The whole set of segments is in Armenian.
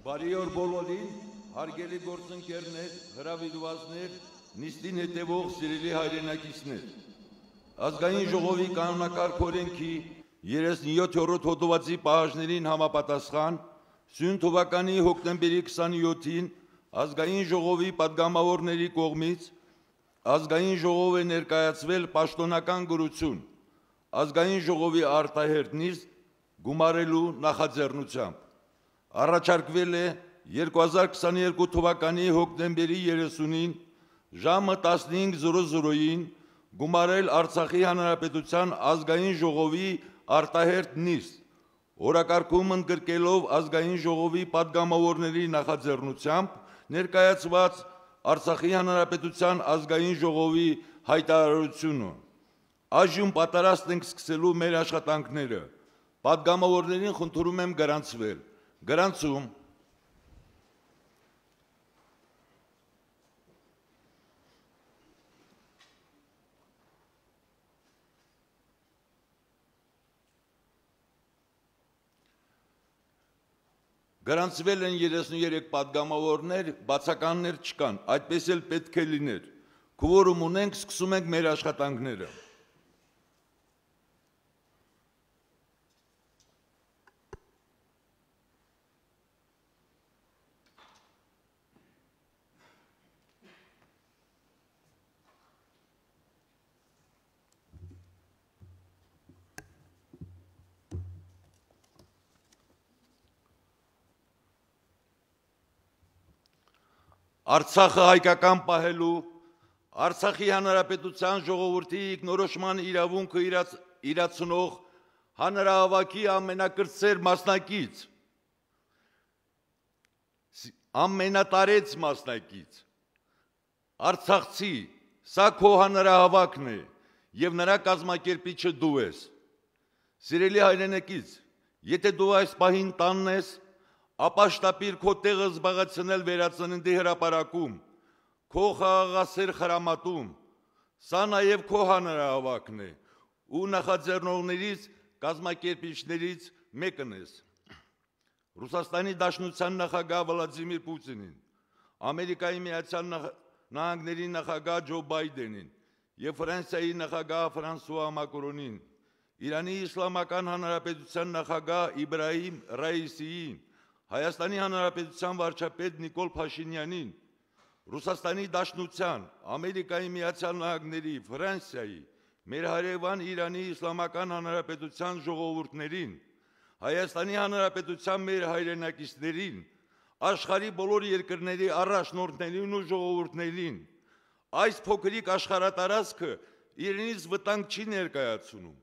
Բարի օր բոլորին, հարգելի գործընկերներ, հրավիրվածներ, նիստին հետևող սիրելի հայրենակիցներ։ Ազգային ժողովի կանոնակարգ օրենքի 37-րդ հոդվածի պահանջներին համապատասխան սյուն թվականի հոկտեմբերի 27-ին Ազգային ժողովի պատգամավորների կողմից Ազգային ժողով է ներկայացվել պաշտոնական գրություն Ազգային ժողովի արտահերթ նիստ գումարելու նախաձեռնությամբ։ Առաջարկվել է 2022 թվականի հոկտեմբերի 30-ին ժամը 15:00-ին գումարել Արցախի Հանրապետության Ազգային ժողովի արտահերթ նիստ, օրակարգում ընդգրկելով Ազգային ժողովի պատգամավորների նախաձեռնությամբ ներկայացված Արցախի Հանրապետության Ազգային ժողովի հայտարարությունը։ Այժմ պատրաստ ենք սկսելու մեր աշխատանքները։ Պատգամավորներին խնդրում եմ գրանցվել։ Գրանցում։ Գրանցվել են 33 պատգամավորներ, բացականներ չկան, այդպես էլ պետք է լիներ։ Քվորում ունենք, սկսում ենք մեր աշխատանքները։ Արցախը հայկական պահելու, Արցախի Հանրապետության ժողովրդի ինքնորոշման իրավունքը իրացնող հանրահավաքի ամենակրտսեր մասնակից, ամենատարեց մասնակից, արցախցի, սա քո հանրահավաքն է և նրա կազմակերպիչը դու ես։ Սիրելի հայրենակից, եթե դու այս պահին տանն ես, ապա շտապիր քո տեղը զբաղեցնել վերածննդի հրապարակում, քո խաղաղասեր խրամատում, սա նաև քո հանրահավաքն է ու նախաձեռնողներից, կազմակերպիչներից մեկն ես։ Ռուսաստանի Դաշնության նախագահ Վլադիմիր Պուտինին, Ամերիկայի Միացյալ Նահանգների նախագահ Ջո Բայդենին և Ֆրանսիայի նախագահ Ֆրանսուଆ Մակրոնին, Իրանի Իսլամական Հանրապետության նախագահ Իբրահիմ Ռայիսիին, Հայաստանի Հանրապետության վարչապետ Նիկոլ Փաշինյանին, Ռուսաստանի Դաշնության, Ամերիկայի Միացյալ Նահանգների, Ֆրանսիայի, մեր հարևան Իրանի Իսլամական Հանրապետության ժողովուրդներին, Հայաստանի Հանրապետության մեր հայրենակիցներին, աշխարհի բոլոր երկրների առաջնորդներին ու ժողովուրդներին, այս փոքրիկ աշխարհատարածքը իրենից վտանգ չի ներկայացնում,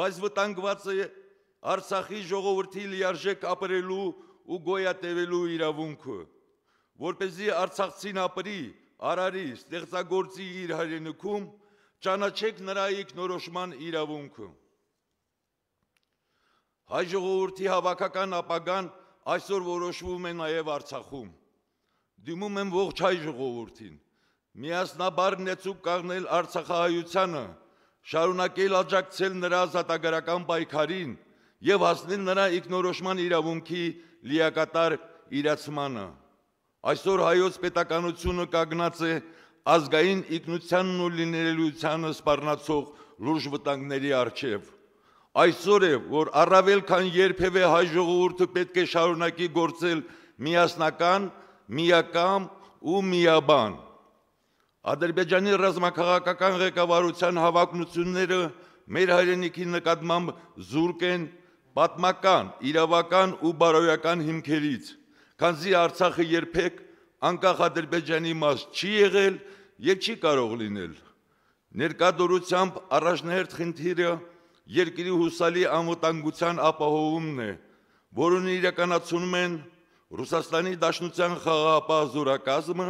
բայց վտանգված է Արցախի ժողովրդի լիարժեք ապրելու ու գոյատևելու իրավունքը, որպեսզի արցախցին ապրի, արարի, ստեղծագործի իր հայրենիքում, ճանաչեք նրա ինքնորոշման իրավունքը։ Հայ ժողովրդի հավաքական ապագան այսօր որոշվում է նաև Արցախում։ Դիմում եմ ողջ հայ ժողովրդին, միասնաբար նեցուկ կանգնել արցախահայությանը, շարունակել աջակցել նրա ազատագրական պայքարին և հասնել նրա ինքնորոշման իրավունքի լիակատար իրացմանը։ Այսօր հայոց պետականությունը կանգնած է ազգային ինքնությանն ու լինելիությանը սպառնացող լուրջ վտանգների առջև։ Այսօր է, որ առավել քան երբևէ հայ ժողովուրդը պետք է շարունակի գործել միասնական, միակամ ու միաբան։ Ադրբեջանի ռազմաքաղաքական ղեկավարության հավակնությունները մեր հայրենիքի նկատմամբ զուրկ են պատմական, իրավական ու բարոյական հիմքերից, քանզի Արցախը երբեք անկախ Ադրբեջանի մաս չի եղել և չի կարող լինել։ Ներկա դրությամբ առաջնահերթ խնդիրը երկրի հուսալի անվտանգության ապահովումն է, որն իրականացնում են Ռուսաստանի Դաշնության խաղաղապահ զորակազմը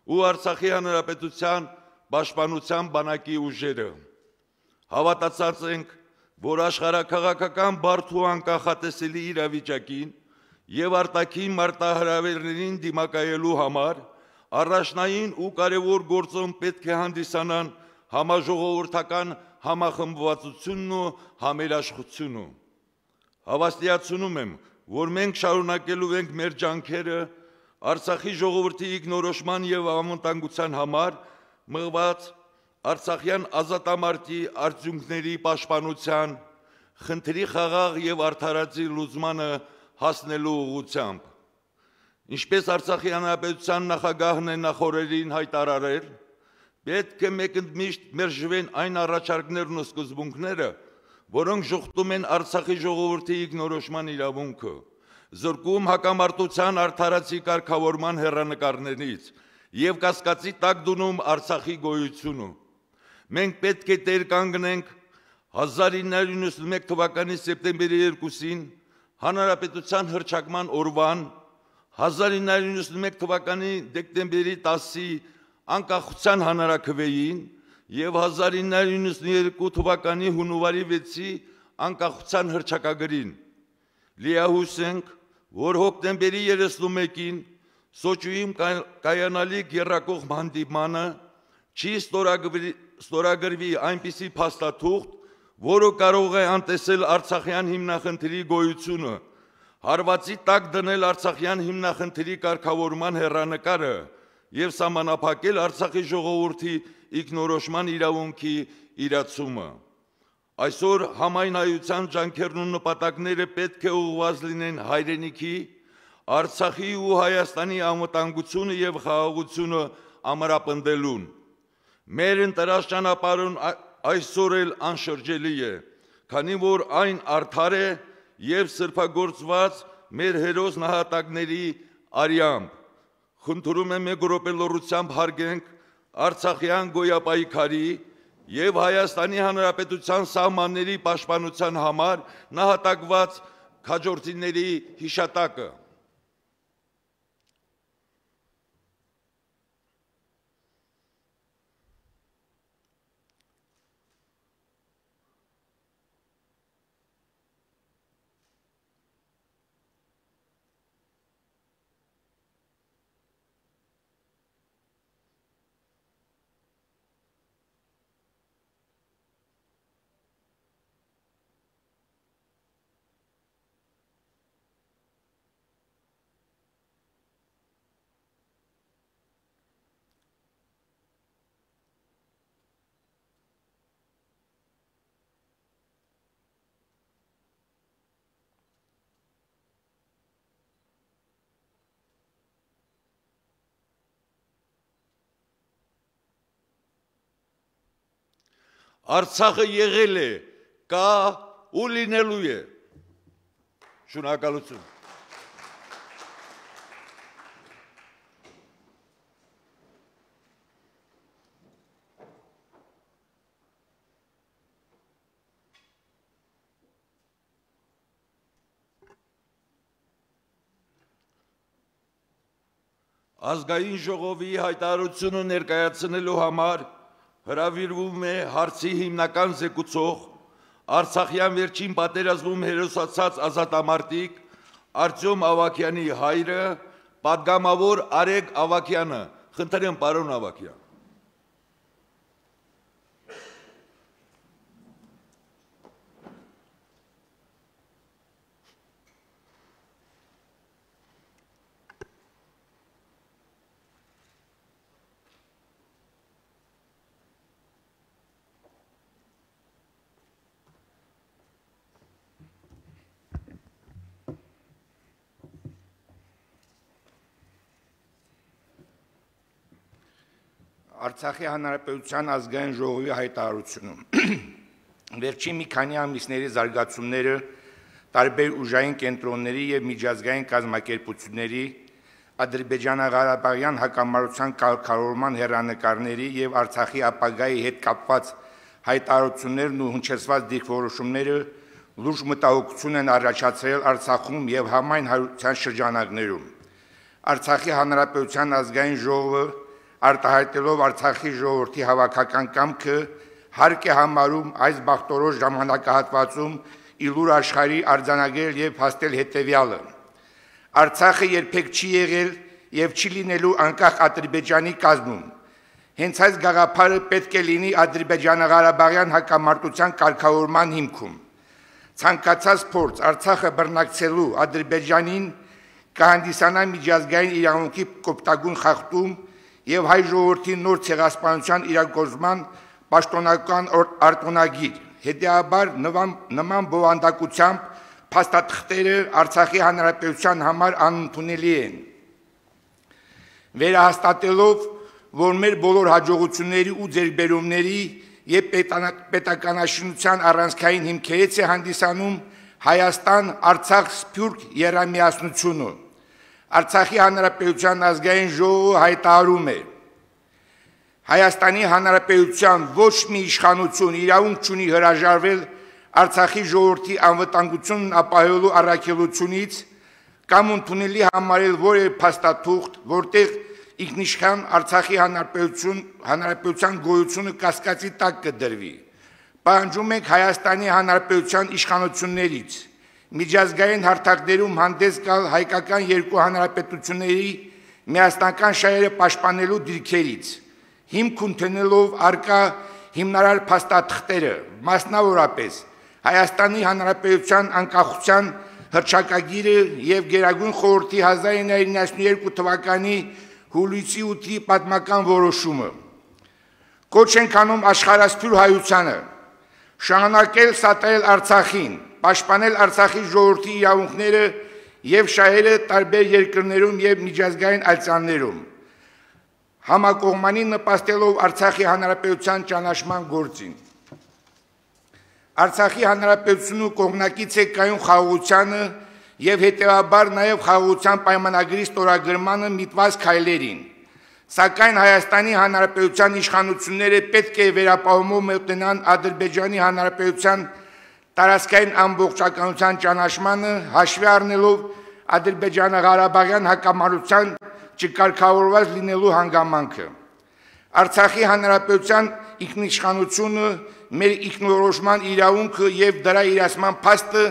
ու Արցախի Հանրապետության պաշտպանության բանակի ուժերը։ Հավատացած ենք, որ աշխարհաքաղաքական բարդ ու անկախատեսելի իրավիճակին և արտաքին մարտահրավերներին դիմակայելու համար առաջնային ու կարևոր գործոն պետք է հանդիսանան համաժողովրդական համախմբվածությունն ու համերաշխությունը։ Հավաստիացնում եմ, որ մենք շարունակելու ենք մեր ջանքերը Արցախի ժողովրդի ինքնորոշման եւ անվտանգության համար մղված Արցախյան ազատամարտի արդյունքների պաշտպանության, խնդրի խաղաղ եւ արդարացի լուծմանը հասնելու ուղղությամբ։ Ինչպես Արցախի հանրապետության նախագահն է նախորդին հայտարարել, պետք է մեկընդմիշտ մերժվեն այն առաջարկներն ու սկզբունքները, որոնք ժխտում են Արցախի ժողովրդի ինքնորոշման իրավունքը, զրկում հակամարտության արդարացի կարգավորման հեռանկարներից եւ կասկածի տակ դնում Արցախի գոյությունը։ Մենք պետք է տեր կանգնենք 1991 թվականի սեպտեմբերի 2-ին Հանրապետության հռչակման օրվան, 1991 թվականի դեկտեմբերի 10-ի անկախության հանրաքվեին եւ 1992 թվականի հունվարի 6-ի անկախության հռչակագրին։ Լիահույս ենք, որ հոկտեմբերի 31-ին Սոչիում կայանալիք եռակողմ հանդիպմանը չի ստորագրվի այնպիսի փաստաթուղթ, որը կարող է անտեսել Արցախյան հիմնախնդրի գոյությունը, հարվածի տակ դնել Արցախյան հիմնախնդրի կարգավորման հեռանկարը եւ սահմանափակել Արցախի ժողովրդի ինքնորոշման իրավունքի իրացումը։ Այսօր համայնայության ջանքերն ու նպատակները պետք է ուղղված լինեն հայրենիքի, Արցախի ու Հայաստանի անվտանգությունը եւ խաղաղությունը ամրապնդելուն։ Մեր ընտրած ճանապարհն այսօր էլ անշրջելի է, քանի որ այն արդար է եւ սրբագործված մեր հերոս նահատակների արյամբ։ Խնդրում եմ մեկ րոպե լռությամբ հարգենք Արցախյան գոյապայքարի եւ Հայաստանի Հանրապետության սահմանների պաշտպանության համար նահատակված քաջորդիների հիշատակը։ Արցախը եղել է, կա ու լինելու է։ Շնորհակալություն։ Ազգային ժողովի հայտարարությունը ներկայացնելու համար հրավիրվում է հարցի հիմնական զեկուցող Արցախյան վերջին պատերազմում հերոսացած ազատամարտիկ Արտյոմ Ավագյանի հայրը, պատգամավոր Արեգ Ավագյանը։ Խնդրեմ, պարոն Ավագյան։ Արցախի հանրապետության ազգային ժողովի հայտարարությունում վերջին մի քանի ամիսների զարգացումները տարբեր ուժային կենտրոնների եւ միջազգային կազմակերպությունների ադրբեջանա-ղարաբաղյան հակամարտության կարգավորման հեռանկարների եւ Արցախի ապագայի հետ կապված հայտարարություններն ու հնչեցված դիրքորոշումները լուրջ մտահոգություն են առաջացրել Արցախում եւ համայն հայության շրջանակներում։ Արցախի հանրապետության ազգային ժողովը արտահայտելով Արցախի ժողովրդի հավաքական կամքը հարկ է համարում այս բախտորոշ ժամանակահատվածում իլուր աշխարհի արձանագրել եւ հաստել հետեւյալը. Արցախը երբեք չի եղել եւ չի լինելու անկախ Ադրբեջանի կազմում։ Հենց այս գաղափարը պետք է լինի Ադրբեջանա-Ղարաբաղյան հակամարտության կարգավորման հիմքում։ ցանկացած փորձ Արցախը բռնակցելու Ադրբեջանին կհանդիսանա միջազգային իրավունքի կոպտագույն խախտում եւ հայ ժողովրդի նոր ցեղասպանության իրագործման պաշտոնական արտոնագիր։ Հետեւաբար նման բովանդակությամբ փաստաթղթերը Արցախի հանրապետության համար անընդունելի են։ Վերահաստատելով, որ մեր բոլոր հաջողությունների ու ձեռքբերումների եւ պետականաշինության առանցքային հիմքերից է հանդիսանում Հայաստան-Արցախ սփյուռք եռամիասնությունը։ Արցախի հանրապետության ազգային ժողովը հայտարարում է. Հայաստանի հանրապետության ոչ մի իշխանություն իրավունք չունի հրաժարվել Արցախի ժողովրդի անվտանգությունն ապահովելու առաքելությունից կամ ընդունելի համարել որևէ փաստաթուղթ, որտեղ ինքնիշխան Արցախի հանրապետության գոյությունը կասկածի տակ կդրվի։ Պահանջում ենք Հայաստանի հանրապետության իշխանություններից միջազգային հարթակներում հանդես գալ հայկական երկու հանրապետությունների միասնական շահերը պաշտպանելու դիրքերից, հիմք ընդունելով առկա հիմնարար փաստաթղթերը, մասնավորապես Հայաստանի հանրապետության անկախության հռչակագիրը եւ Գերագույն խորհրդի 1992 թվականի հուլիսի 8-ի պատմական որոշումը։ Կոչ ենք անում աշխարհասփյուռ հայությանը շարունակել սատարել Արցախին, պաշտպանել Արցախի ժողովրդի իրավունքները եւ շահերը տարբեր երկրներում եւ միջազգային ալցաններում, համակողմանի նպաստելով Արցախի հանրապետության ճանաչման գործին։ Արցախի հանրապետությունը կողմնակից է կայուն խաղաղությանը եւ հետեւաբար նաեւ խաղաղության պայմանագրի ստորագրմանը միտված քայլերին։ Սակայն Հայաստանի հանրապետության իշխանությունները պետք է վերապահումով մոտնան Ադրբեջանի հանրապետության տարածքային ամբողջականության ճանաչմանը, հաշվի առնելով Ադրբեջանա-Ղարաբաղյան հակամարտության չկարգավորված լինելու հանգամանքը։ Արցախի հանրապետության ինքնիշխանությունը, մեր ինքնորոշման իրավունքը եւ դրա իրացման փաստը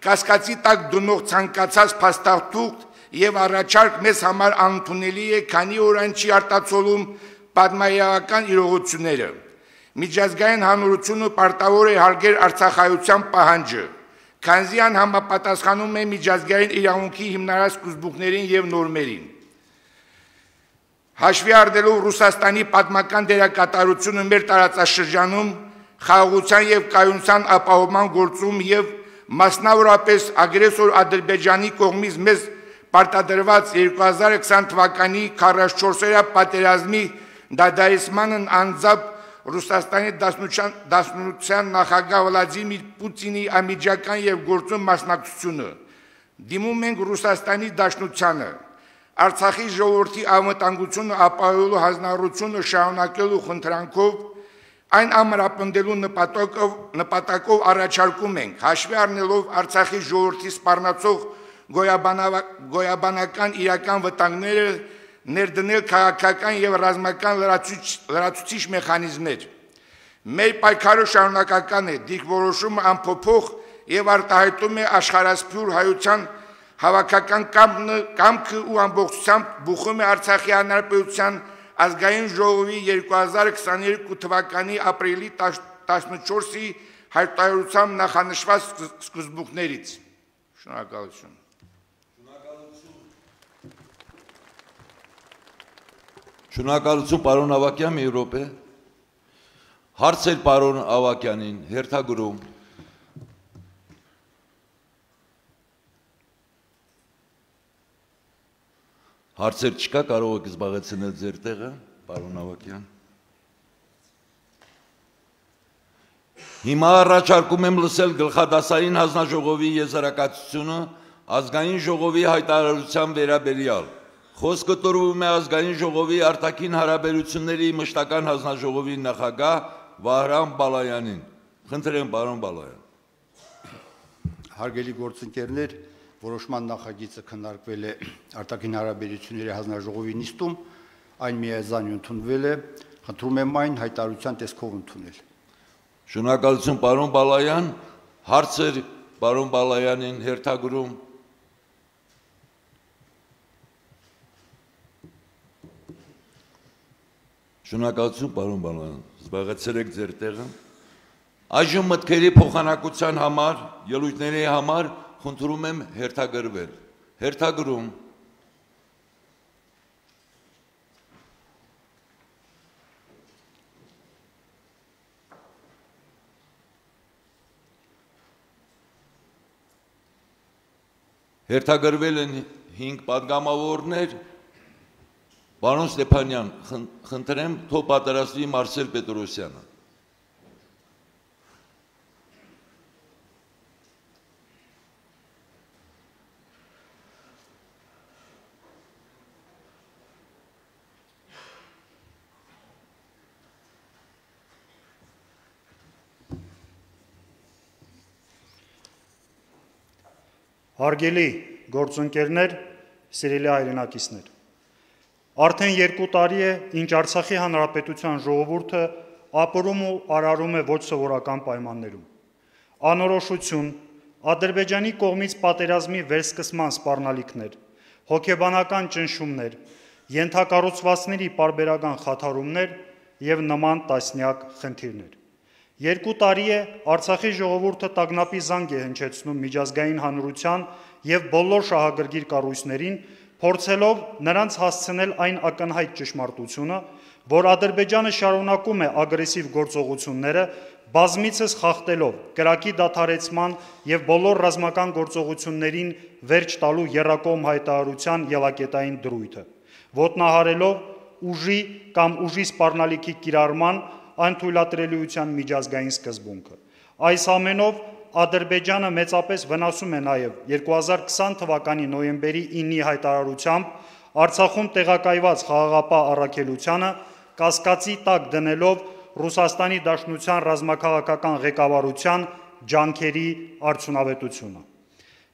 կասկածի տակ դնող ցանկացած փաստաթուղթ եւ առաջարկ մեզ համար անընդունելի է, քանի որ այն չի արտացոլում պատմահայկական իրողությունները։ Միջազգային հանրությունը պարտավոր է հարգել արցախայության պահանջը, քանզի այն համապատասխանում է միջազգային իրավունքի հիմնարար սկզբունքներին եւ նորմերին։ Հաշվի առնելով Ռուսաստանի պատմական դերակատարությունը մեր տարածաշրջանում խաղաղության եւ կայունության ապահովման գործում եւ մասնավորապես ագրեսոր Ադրբեջանի կողմից մեզ պարտադրված 2020 թվականի 44-օրյա պատերազմի դադարեցմանն անձամբ Ռուսաստանի դաշնության նախագահ Վլադիմիր Պուտինի անմիջական եւ գործուն մասնակցությունը։ Դիմում ենք Ռուսաստանի դաշնությանը Արցախի ժողովրդի անվտանգությունը ապահովելու հանրությունը շարունակելու խնդրանքով այն ամրապնդելու նպատակով առաջարկում ենք հաշվի առնելով Արցախի ժողովրդի սպառնացող գոյաբանական իրական վտանգները ներդնել քաղաքական եւ ռազմական լրացուցիչ մեխանիզմներ։ Մեր պայքարը շարունակական է, դիրքորոշումը անփոփոխ եւ արտահայտում է աշխարհասփյուռ հայության հավաքական կամքը ու ամբողջությամբ բուխում է Արցախի հանրապետության ազգային ժողովի 2022 թվականի ապրիլի 14-ի հայտարարությամբ նախանշված սկզբունքներից։ Շնորհակալություն։ Շնորհակալություն պարոն Ավագյան, մի րոպե։ Հարցեր պարոն Ավագյանին, հերթագրում։ Հարցեր չկա, կարող եք զբաղեցնել ձեր տեղը, պարոն Ավագյան։ Հիմա առաջարկում եմ լսել գլխադասային հանձնաժողովի եզրակացությունը ազգային ժողովի հայտարարության վերաբերյալ։ Խոսքը տրվում է ազգային ժողովի արտաքին հարաբերությունների մշտական հանձնաժողովի նախագահ Վահրամ Բալայանին։ Խնդրեմ, պարոն Բալայան։ Հարգելի գործընկերներ, որոշման նախագիծը քննարկվել է արտաքին հարաբերությունների հանձնաժողովի նիստում, այն միայնազան ընդունվել է, խնդրում եմ այն հայտարարության տեսքով ընդունել։ Շնորհակալություն պարոն Բալայան, հարցեր պարոն Բալայանին հերթագրում։ Շնորհակալություն պարոն Բալայան, զբաղեցրեք ձեր տեղը։ Այժմ մտքերի փոխանակության համար, ելույթների համար խնդրում եմ հերթագրվել։ Հերթագրում Հերթագրվել են 5 պատգամավորներ, պարոն Ստեփանյան, խնդրեմ թող պատրաստվի Մարսել Պետրոսյանը։ Հարգելի գործընկերներ, սիրելի հայրենակիցներ, արդեն 2 տարի է, ինչ Արցախի Հանրապետության ժողովուրդը ապրում ու արարում է ոչ սովորական պայմաններում։ Անորոշություն, Ադրբեջանի կողմից պատերազմի վերսկսման սպառնալիքներ, հոգեբանական ճնշումներ, ենթակառուցվածքների պարբերական խաթարումներ եւ նման տասնյակ խնդիրներ։ 2 տարի է Արցախի ժողովուրդը տագնապի զանգ է հնչեցնում միջազգային հանրության եւ բոլոր շահագրգիռ կառույցներին, փորձելով նրանց հասցնել այն ակնհայտ ճշմարտությունը, որ Ադրբեջանը շարունակում է ագրեսիվ գործողությունները, բազմիցս խախտելով կրակի դադարեցման եւ բոլոր ռազմական գործողություններին վերջ տալու եռակողմ հայտարարության ելակետային դրույթը, ոտնահարելով ուժի կամ ուժի սպառնալիքի կիրառման անթույլատրելիության միջազգային սկզբունքը։ Այս ամենով Ադրբեջանը մեծապես վնասում է նաև 2020 թվականի նոյեմբերի 9-ի հայտարարությամբ Արցախում տեղակայված խաղաղապահ առաքելությանը կասկածի տակ դնելով Ռուսաստանի Դաշնության ռազմաքաղաքական ղեկավարության ջանքերի արդյունավետությունը։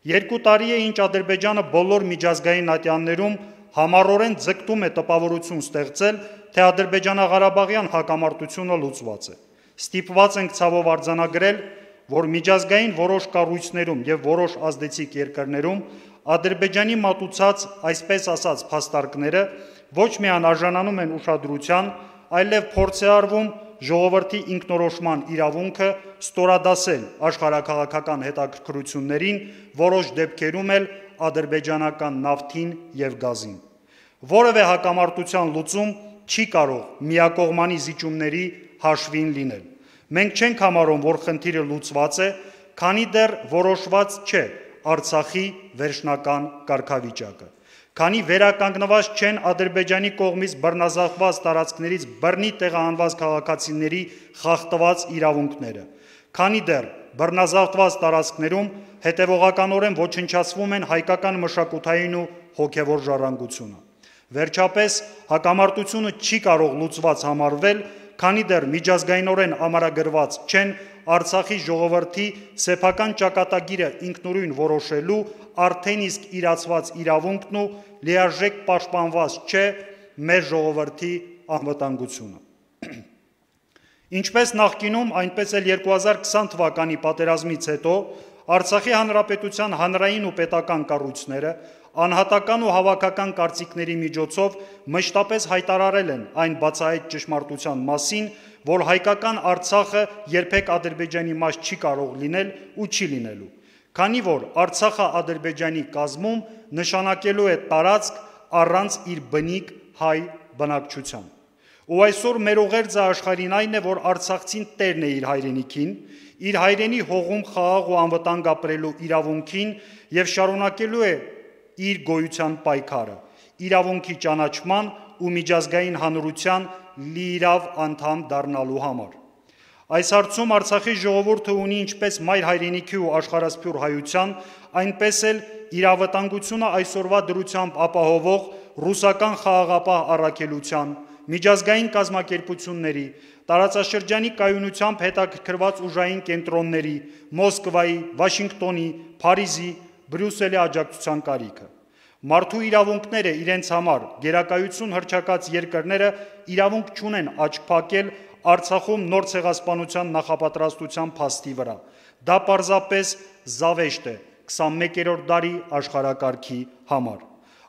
2 տարի է, ինչ Ադրբեջանը բոլոր միջազգային ատյաններում համառորեն ձգտում է տպավորություն ստեղծել, թե Ադրբեջանա-Ղարաբաղյան հակամարտությունը լուծված է։ Ստիպված ենք ցավով արձանագրել, որ միջազգային որոշ կառույցներում եւ որոշ ազդեցիկ երկրներում Ադրբեջանի մատուցած, այսպես ասած, փաստարկները ոչ միայն արժանանում են ուշադրության, այլև փորձ է արվում ժողովրդի ինքնորոշման իրավունքը ստորադասել աշխարհաքաղաքական հետաքրքրություններին, որոշ դեպքերում էլ ադրբեջանական նավթին եւ գազին։ Որևէ հակամարտության լուծում չի կարող միակողմանի զիջումների հաշվին լինել։ Մենք չենք համարում, որ խնդիրը լուծված է, քանի դեռ որոշված չէ Արցախի վերջնական կարգավիճակը, քանի վերականգնված չեն Ադրբեջանի կողմից բռնազավթված տարածքներից բռնի տեղահանված քաղաքացիների խախտված իրավունքները, քանի դեռ բռնազավթված տարածքներում հետևողականորեն ոչնչացվում են հայկական մշակութային ու հոգևոր ժառանգությունը։ Վերջապես, հակամարտությունը չի կարող լուծված համարվել, քանի դեռ միջազգայինորեն ամրագրված չեն Արցախի ժողովրդի սեփական ճակատագիրը ինքնուրույն որոշելու արդեն իսկ իրացված իրավունքն ու լիարժեք պաշտպանված չէ մեր ժողովրդի անվտանգությունը։ Ինչպես նախկինում, այնպես էլ 2020 թվականի պատերազմից հետո Արցախի Հանրապետության հանրային ու պետական կառույցները անհատական ու հավաքական կարծիքների միջոցով մշտապես հայտարարել են այն բացահայտ ճշմարտության մասին, որ հայկական Արցախը երբեք Ադրբեջանի մաս չի կարող լինել ու չի լինելու, քանի որ Արցախը Ադրբեջանի կազմում նշանակելու է տարածք առանց իր բնիկ հայ բնակչության։ Ու այսօր մեր ուղերձը աշխարհին այն է, որ արցախցին տերն է իր հայրենիքին, իր հայրենի հողում խաղաղ ու անվտանգ ապրելու իրավունքին եւ շարունակելու է իր գոյության պայքարը, իրավունքի ճանաչման ու միջազգային հանրության լիիրավ անդամ դառնալու համար։ Այս հարցում Արցախի ժողովուրդը ունի ինչպես մայր հայրենիքի ու աշխարհասփյուռ հայության, այնպես էլ իրավտանգությունը այսօրվա դրությամբ ապահովող ռուսական խաղաղապահ առաքելության, միջազգային կազմակերպությունների, տարածաշրջանի կայունությամբ հետաքրքրված ուժային կենտրոնների, Մոսկվայի, Վաշինգտոնի, Փարիզի, Բրյուսելի աջակցության կարիքը։ Մարդու իրավունքները իրենց համար գերակայություն հռչակած երկրները իրավունք չունեն աչք փակել Արցախում նոր ցեղասպանության նախապատրաստության փաստի վրա։ Դա պարզապես զավեշտ է 21-րդ դարի աշխարհակարգի համար։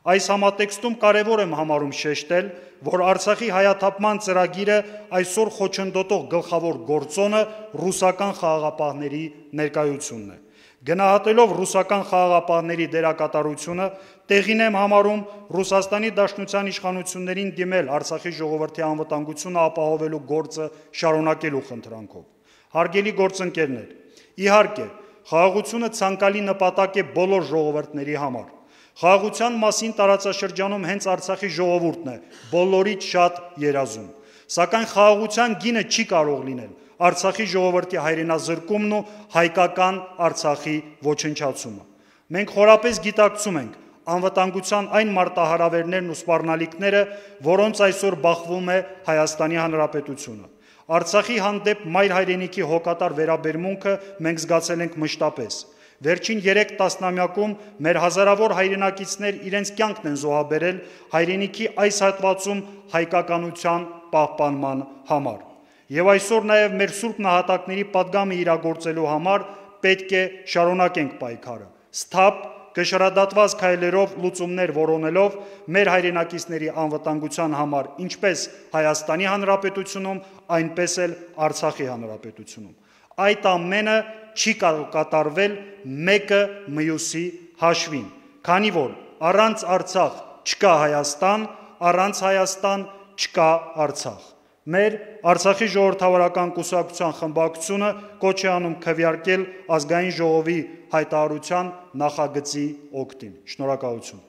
Այս համատեքստում կարևոր եմ համարում շեշտել, որ Արցախի հայաթափման ծրագիրը այսօր խոչընդոտող գլխավոր գործոնը ռուսական խաղաղապահների ներկայությունն է։ Գնահատելով ռուսական խաղաղապահների դերակատարությունը, տեղին եմ համարում Ռուսաստանի Դաշնության իշխանություններին դիմել Արցախի ժողովրդի անվտանգությունը ապահովելու գործը շարունակելու խնդրանքով։ Հարգելի գործընկերներ, իհարկե, խաղաղությունը ցանկալի նպատակ է բոլոր ժողովուրդների համար։ Խաղաղության մասին տարածաշրջանում հենց Արցախի ժողովուրդն է բոլորից շատ երազում, սակայն խաղաղության գինը չի կարող լինել Արցախի ժողովրդի հայրենազրկումն ու հայկական Արցախի ոչնչացումը։ Մենք խորապես գիտակցում ենք անվտանգության այն մարտահրավերներն ու սպառնալիքները, որոնց այսօր բախվում է Հայաստանի Հանրապետությունը։ Արցախի հանդեպ մայր հայրենիքի հոգատար վերաբերմունքը մենք զգացել ենք մշտապես։ Վերջին 3 տասնամյակում մեր հազարավոր հայրենակիցներ իրենց կյանքն են զոհաբերել հայրենիքի այս հատվածում հայկականության պահպանման համար։ Եվ այսօր նաև մեր սուրբ նահատակների պատգամը իրագործելու համար պետք է շարունակենք պայքարը, սթափ, կշռադատված քայլերով լուծումներ որոնելով մեր հայրենակիցների անվտանգության համար ինչպես Հայաստանի Հանրապետությունում, այնպես էլ Արցախի Հանրապետությունում։ Այդ ամենը չի կարող կատարվել մեկը մյուսի հաշվին, քանի որ առանց Արցախ չկա Հայաստան, առանց Հայաստան չկա Արցախ։ Մեր Արցախի ժողովրդավարական կուսակցության խմբակցությունը կոչ է անում քվեարկել ազգային ժողովի հայտարարության նախագծի օգտին։ Շնորհակալություն։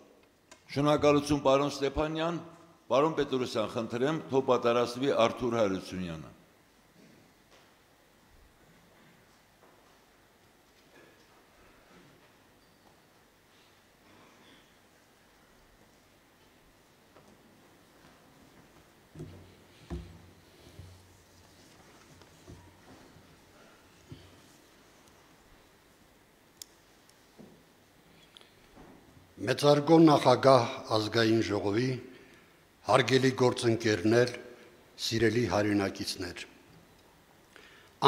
Շնորհակալություն, պարոն Ստեփանյան, պարոն Պետրոսյան, խնդրեմ, թող պատասխանի Արթուր Հարությունյանը։ Մեծարգո նախագահ ազգային ժողովի, հարգելի գործընկերներ, սիրելի հայրենակիցներ։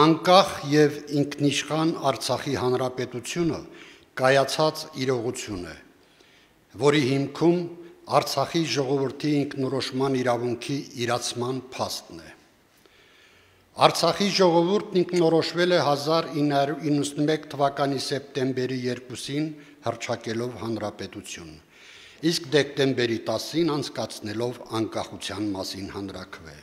Անկախ եւ ինքնիշխան Արցախի հանրապետությունը կայացած իրողություն է, որի հիմքում Արցախի ժողովրդի ինքնորոշման իրավունքի իրացման փաստն է։ Արցախի ժողովուրդն ինքնորոշվել է 1991 թվականի սեպտեմբերի 2-ին հռչակելով հանրապետություն, իսկ դեկտեմբերի 10-ին անցկացնելով անկախության մասին հանրաքվե։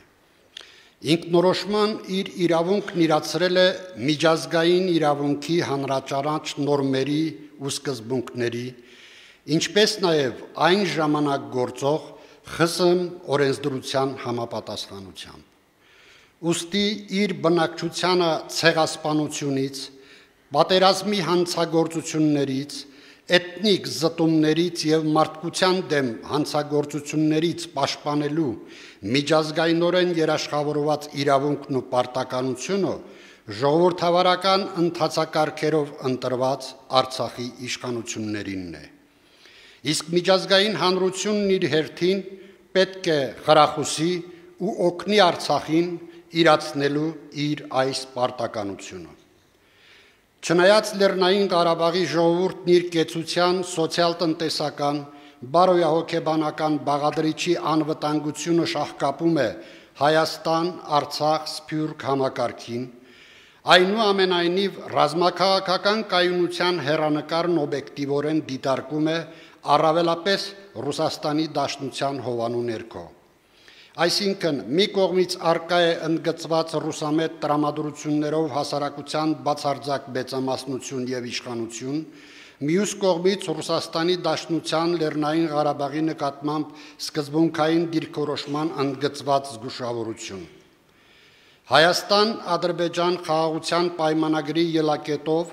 Ինքնորոշման իր իրավունքն իրացրել է միջազգային իրավունքի հանրաճանաչ նորմերի ու սկզբունքների, ինչպես նաև այն ժամանակ գործող ԽՍՀՄ օրենսդրության համապատասխանությամբ։ Ուստի իր բնակչությանը ցեղասպանությունից, պատերազմի հանցագործություններից, էթնիկ զտումներից եւ մարդկության դեմ հանցագործություններից պաշտպանելու միջազգայինորեն երաշխավորված իրավունքն ու պարտականությունը ժողովրդավարական ընթացակարգերով ընտրված Արցախի իշխանություններինն է։ Իսկ միջազգային հանրությունն իր հերթին պետք է խրախուսի ու օգնի Արցախին իրացնելու իր այս պարտականությունը։ Չնայած Լեռնային Ղարաբաղի ժողովուրդն իր կեցության, սոցիալ-տնտեսական, բարոյահոգեբանական բաղադրիչի անվտանգությունը շահկապում է Հայաստան, Արցախ, Սփյուռք համակարգին, այնուամենայնիվ ռազմաքաղաքական կայունության հեռանկարն օբյեկտիվորեն դիտարկում է առավելապես Ռուսաստանի Դաշնության հովանու ներքո։ Այսինքն, մի կողմից արկա է ընդգծված ռուսամետ տրամադրություններով հասարակության բացարձակ մեծամասնություն եւ իշխանություն, մյուս կողմից Ռուսաստանի Դաշնության Լեռնային Ղարաբաղի նկատմամբ սկզբունքային դիրքորոշման ընդգծված զգուշավորություն։ Հայաստան-Ադրբեջան խաղաղության պայմանագրի ելակետով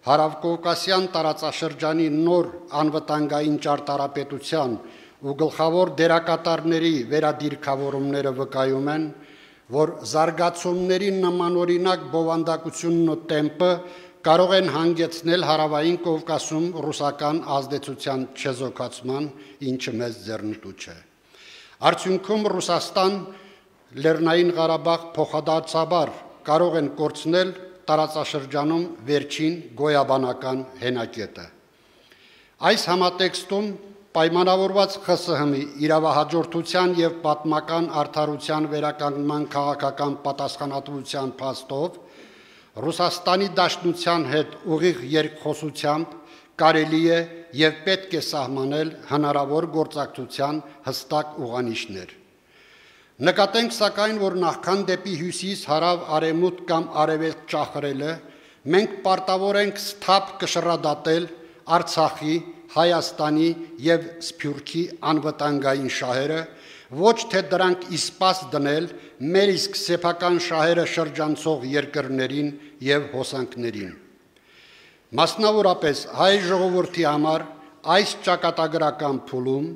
Հարավկովկասյան տարածաշրջանի նոր անվտանգային ճարտարապետության ու գլխավոր դերակատարների վերադիրքավորումները վկայում են, որ զարգացումների նմանօրինակ բովանդակությունն ու տեմպը կարող են հանգեցնել Հարավային Կովկասում ռուսական ազդեցության չեզոքացման, ինչը մեծ ձեռնտու չէ։ Արդյունքում Ռուսաստան, Լեռնային Ղարաբաղ փոխադարձաբար կարող են կորցնել տարածաշրջանում վերջին գոյաբանական հենակետը։ Այս համատեքստում պայմանավորված ԽՍՀՄ-ի իրավահաջորդության եւ պատմական արդարության վերականգնման քաղաքական պատասխանատվության փաստով Ռուսաստանի Դաշնության հետ ուղիղ երկխոսությամբ կարելի է եւ պետք է սահմանել հնարավոր գործակցության հստակ ուղանիշներ։ Նկատենք սակայն, որ նախքան դեպի հյուսիս, հարավ, արևմուտք կամ արևելք ճախրելը, մենք պարտավոր ենք սթափ կշռադատել Արցախի, Հայաստանի եւ Սփյուռքի անվտանգային շահերը, ոչ թե դրանք իսպաս դնել մեր իսկ սեփական շահերը շրջանցող երկրներին եւ հոսանքներին։ Մասնավորապես հայ ժողովրդի համար այս ճակատագրական փուլում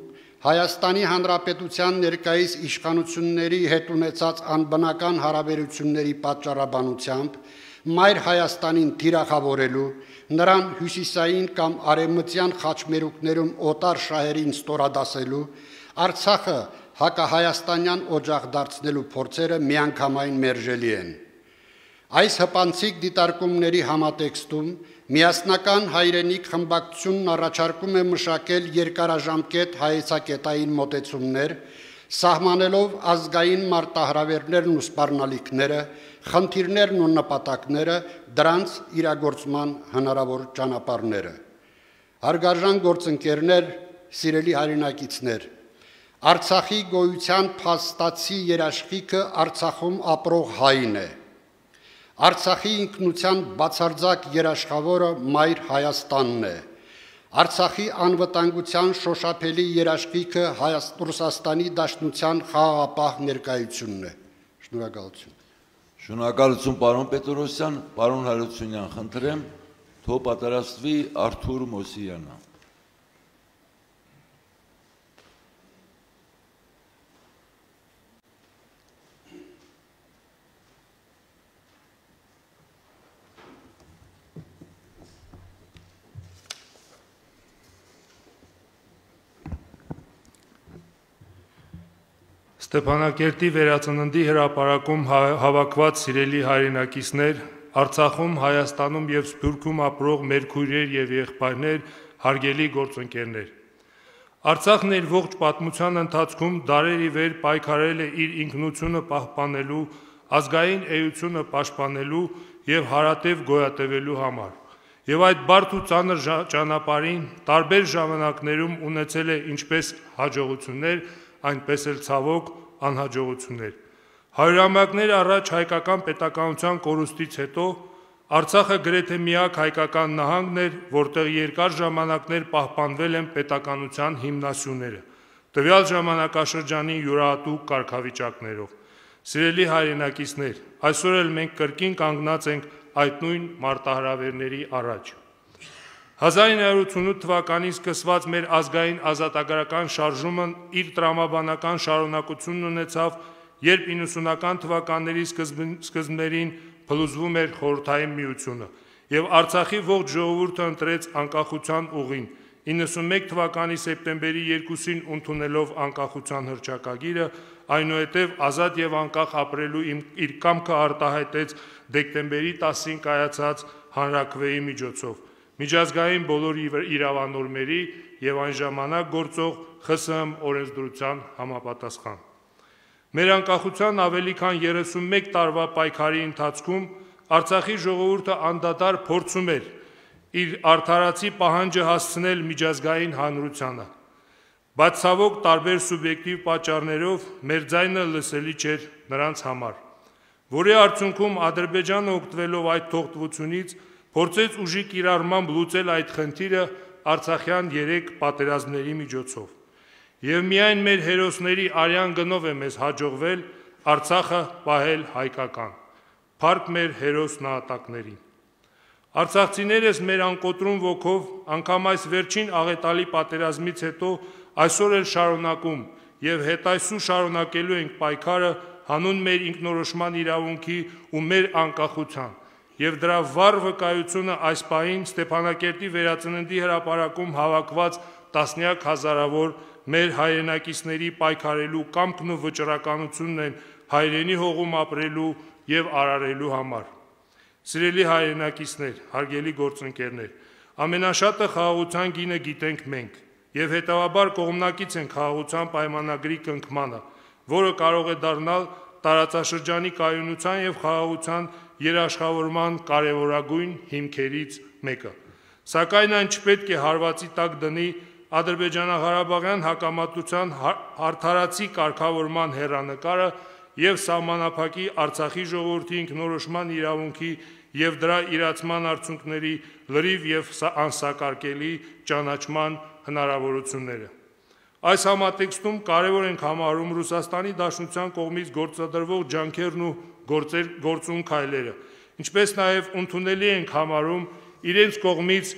Հայաստանի Հանրապետության ներկայիս իշխանությունների հետ ունեցած անբնական հարաբերությունների պատճառաբանությամբ Մայր Հայաստանին թիրախավորելու, նրան հյուսիսային կամ արևմտյան խաչմերուկներում օտար շահերին ստորադասելու, Արցախը հակահայաստանյան օջախ դարձնելու փորձերը միանգամայն մերժելի են։ Այս հպանցիկ դիտարկումների համատեքստում միասնական հայրենիք խմբակցությունն առաջարկում է մշակել երկարաժամկետ հայեցակետային մոտեցումներ, սահմանելով ազգային մարտահրավերներն ու սպառնալիքները, խնդիրներն ու նպատակները, դրանց իրագործման հնարավոր ճանապարհները։ Հարգարժան գործընկերներ, սիրելի հայրենակիցներ, Արցախի գոյության փաստացի երաշխիքը Արցախում ապրող հայն է։ Արցախի ինքնության բացարձակ երաշխավորը Մայր Հայաստանն է։ Արցախի անվտանգության շոշափելի երաշխիքը Ռուսաստանի Դաշնության խաղաղապահ ներկայությունն է։ Շնորհակալություն։ Շնորհակալություն պարոն Պետրոսյան, պարոն Հարությունյան, խնդրեմ, թող պատրաստվի Արթուր Մոսյանը։ Ստեփանակերտի վերածննդի հրապարակում հավաքված սիրելի հայրենակիցներ, Արցախում, Հայաստանում եւ Սփյուռքում ապրող մեր քույրեր եւ եղբայրներ, հարգելի գործընկերներ։ Արցախն իր ողջ պատմության ընթացքում դարեր ի վեր պայքարել է իր ինքնությունը պահպանելու, ազգային էությունը պաշտպանելու եւ հարատև գոյատևելու համար։ Եվ այդ բարդ ու ծանր ճանապարհին տարբեր ժամանակներում ունեցել է ինչպես հաջողություններ, այնպես էլ ցավոք անհաջողություններ։ Հարյուրամյակներ առաջ հայկական պետականության կորուստից հետո Արցախը գրեթե միակ հայկական նահանգն էր, որտեղ երկար ժամանակներ պահպանվել են պետականության հիմնասյուները, տվյալ ժամանակաշրջանի յուրահատուկ կարգավիճակներով։ Սիրելի հայրենակիցներ, այսօր էլ մենք կրկին կանգնած ենք այդ նույն մարտահրավերների առաջ։ 1988 թվականին սկսված մեր ազգային ազատագրական շարժումն իր տրամաբանական շարունակությունն ունեցավ, երբ 90-ական թվականների սկզբներին փլուզվում էր Խորհրդային Միությունը, եւ Արցախի ողջ ժողովուրդը ընտրեց անկախության ուղին, 91 թվականի սեպտեմբերի 2-ին ընդունելով անկախության հռչակագիրը, այնուհետև ազատ եւ անկախ ապրելու իր կամքը արտահայտեց դեկտեմբերի 10-ին կայացած հանրաքվեի միջոցով, միջազգային բոլոր իրավանորմերի եւ այն ժամանակ գործող ԽՍՀՄ օրենսդրության համապատասխան։ Մեր անկախության ավելի քան 31 տարվա պայքարի ընթացքում Արցախի ժողովուրդը անդադար փորձում էր իր արդարացի պահանջը հասցնել միջազգային հանրությանը, բայց ցավոք տարբեր սուբյեկտիվ պատճառներով մեր ձայնը լսելի չէր նրանց համար, որի արդյունքում Ադրբեջանը օգտվելով այդ թողտվությունից փորձեց ուժի կիրառմամբ լուծել այդ խնդիրը արցախյան 3 պատերազմների միջոցով։ Եվ միայն մեր հերոսների արյան գնով է մեզ հաջողվել Արցախը պահել հայկական։ Փառք մեր հերոս նահատակներին։ Արցախցիներս մեր անկոտրում ոգով անգամ այս վերջին աղետալի պատերազմից հետո այսօր էլ շարունակում եւ հետայսու շարունակելու ենք պայքարը հանուն մեր ինքնորոշման իրավունքի ու մեր անկախության եւ դրա վառ վկայությունը այս պահին Ստեփանակերտի վերածննդի հրապարակում հավաքված տասնյակ հազարավոր մեր հայրենակիցների պայքարելու կամքն ու վճռականությունն են հայրենի հողում ապրելու եւ արարելու համար։ Սիրելի հայրենակիցներ, հարգելի գործընկերներ, ամենաշատը խաղաղության գինը գիտենք մենք, եւ հետեւաբար կողմնակից են խաղաղության պայմանագրի կնքմանը, որը կարող է դառնալ տարածաշրջանի կայունության եւ խաղաղության երաշխավորման կարևորագույն հիմքերից մեկը։ Սակայն այն չպետք է հարվածի տակ դնի Ադրբեջանա-Ղարաբաղյան հակամարտության արդարացի կարգավորման հեռանկարը եւ սահմանափակի Արցախի ժողովրդի ինքնորոշման իրավունքի եւ դրա իրացման արդյունքների լրիվ եւ անսակարկելի ճանաչման հնարավորությունները։ Այս համատեքստում կարևոր ենք համարում Ռուսաստանի Դաշնության կողմից գործադրվող ջանքերն ու գործուն քայլերը, ինչպես նաեւ ընդունելի ենք համարում իրենց կողմից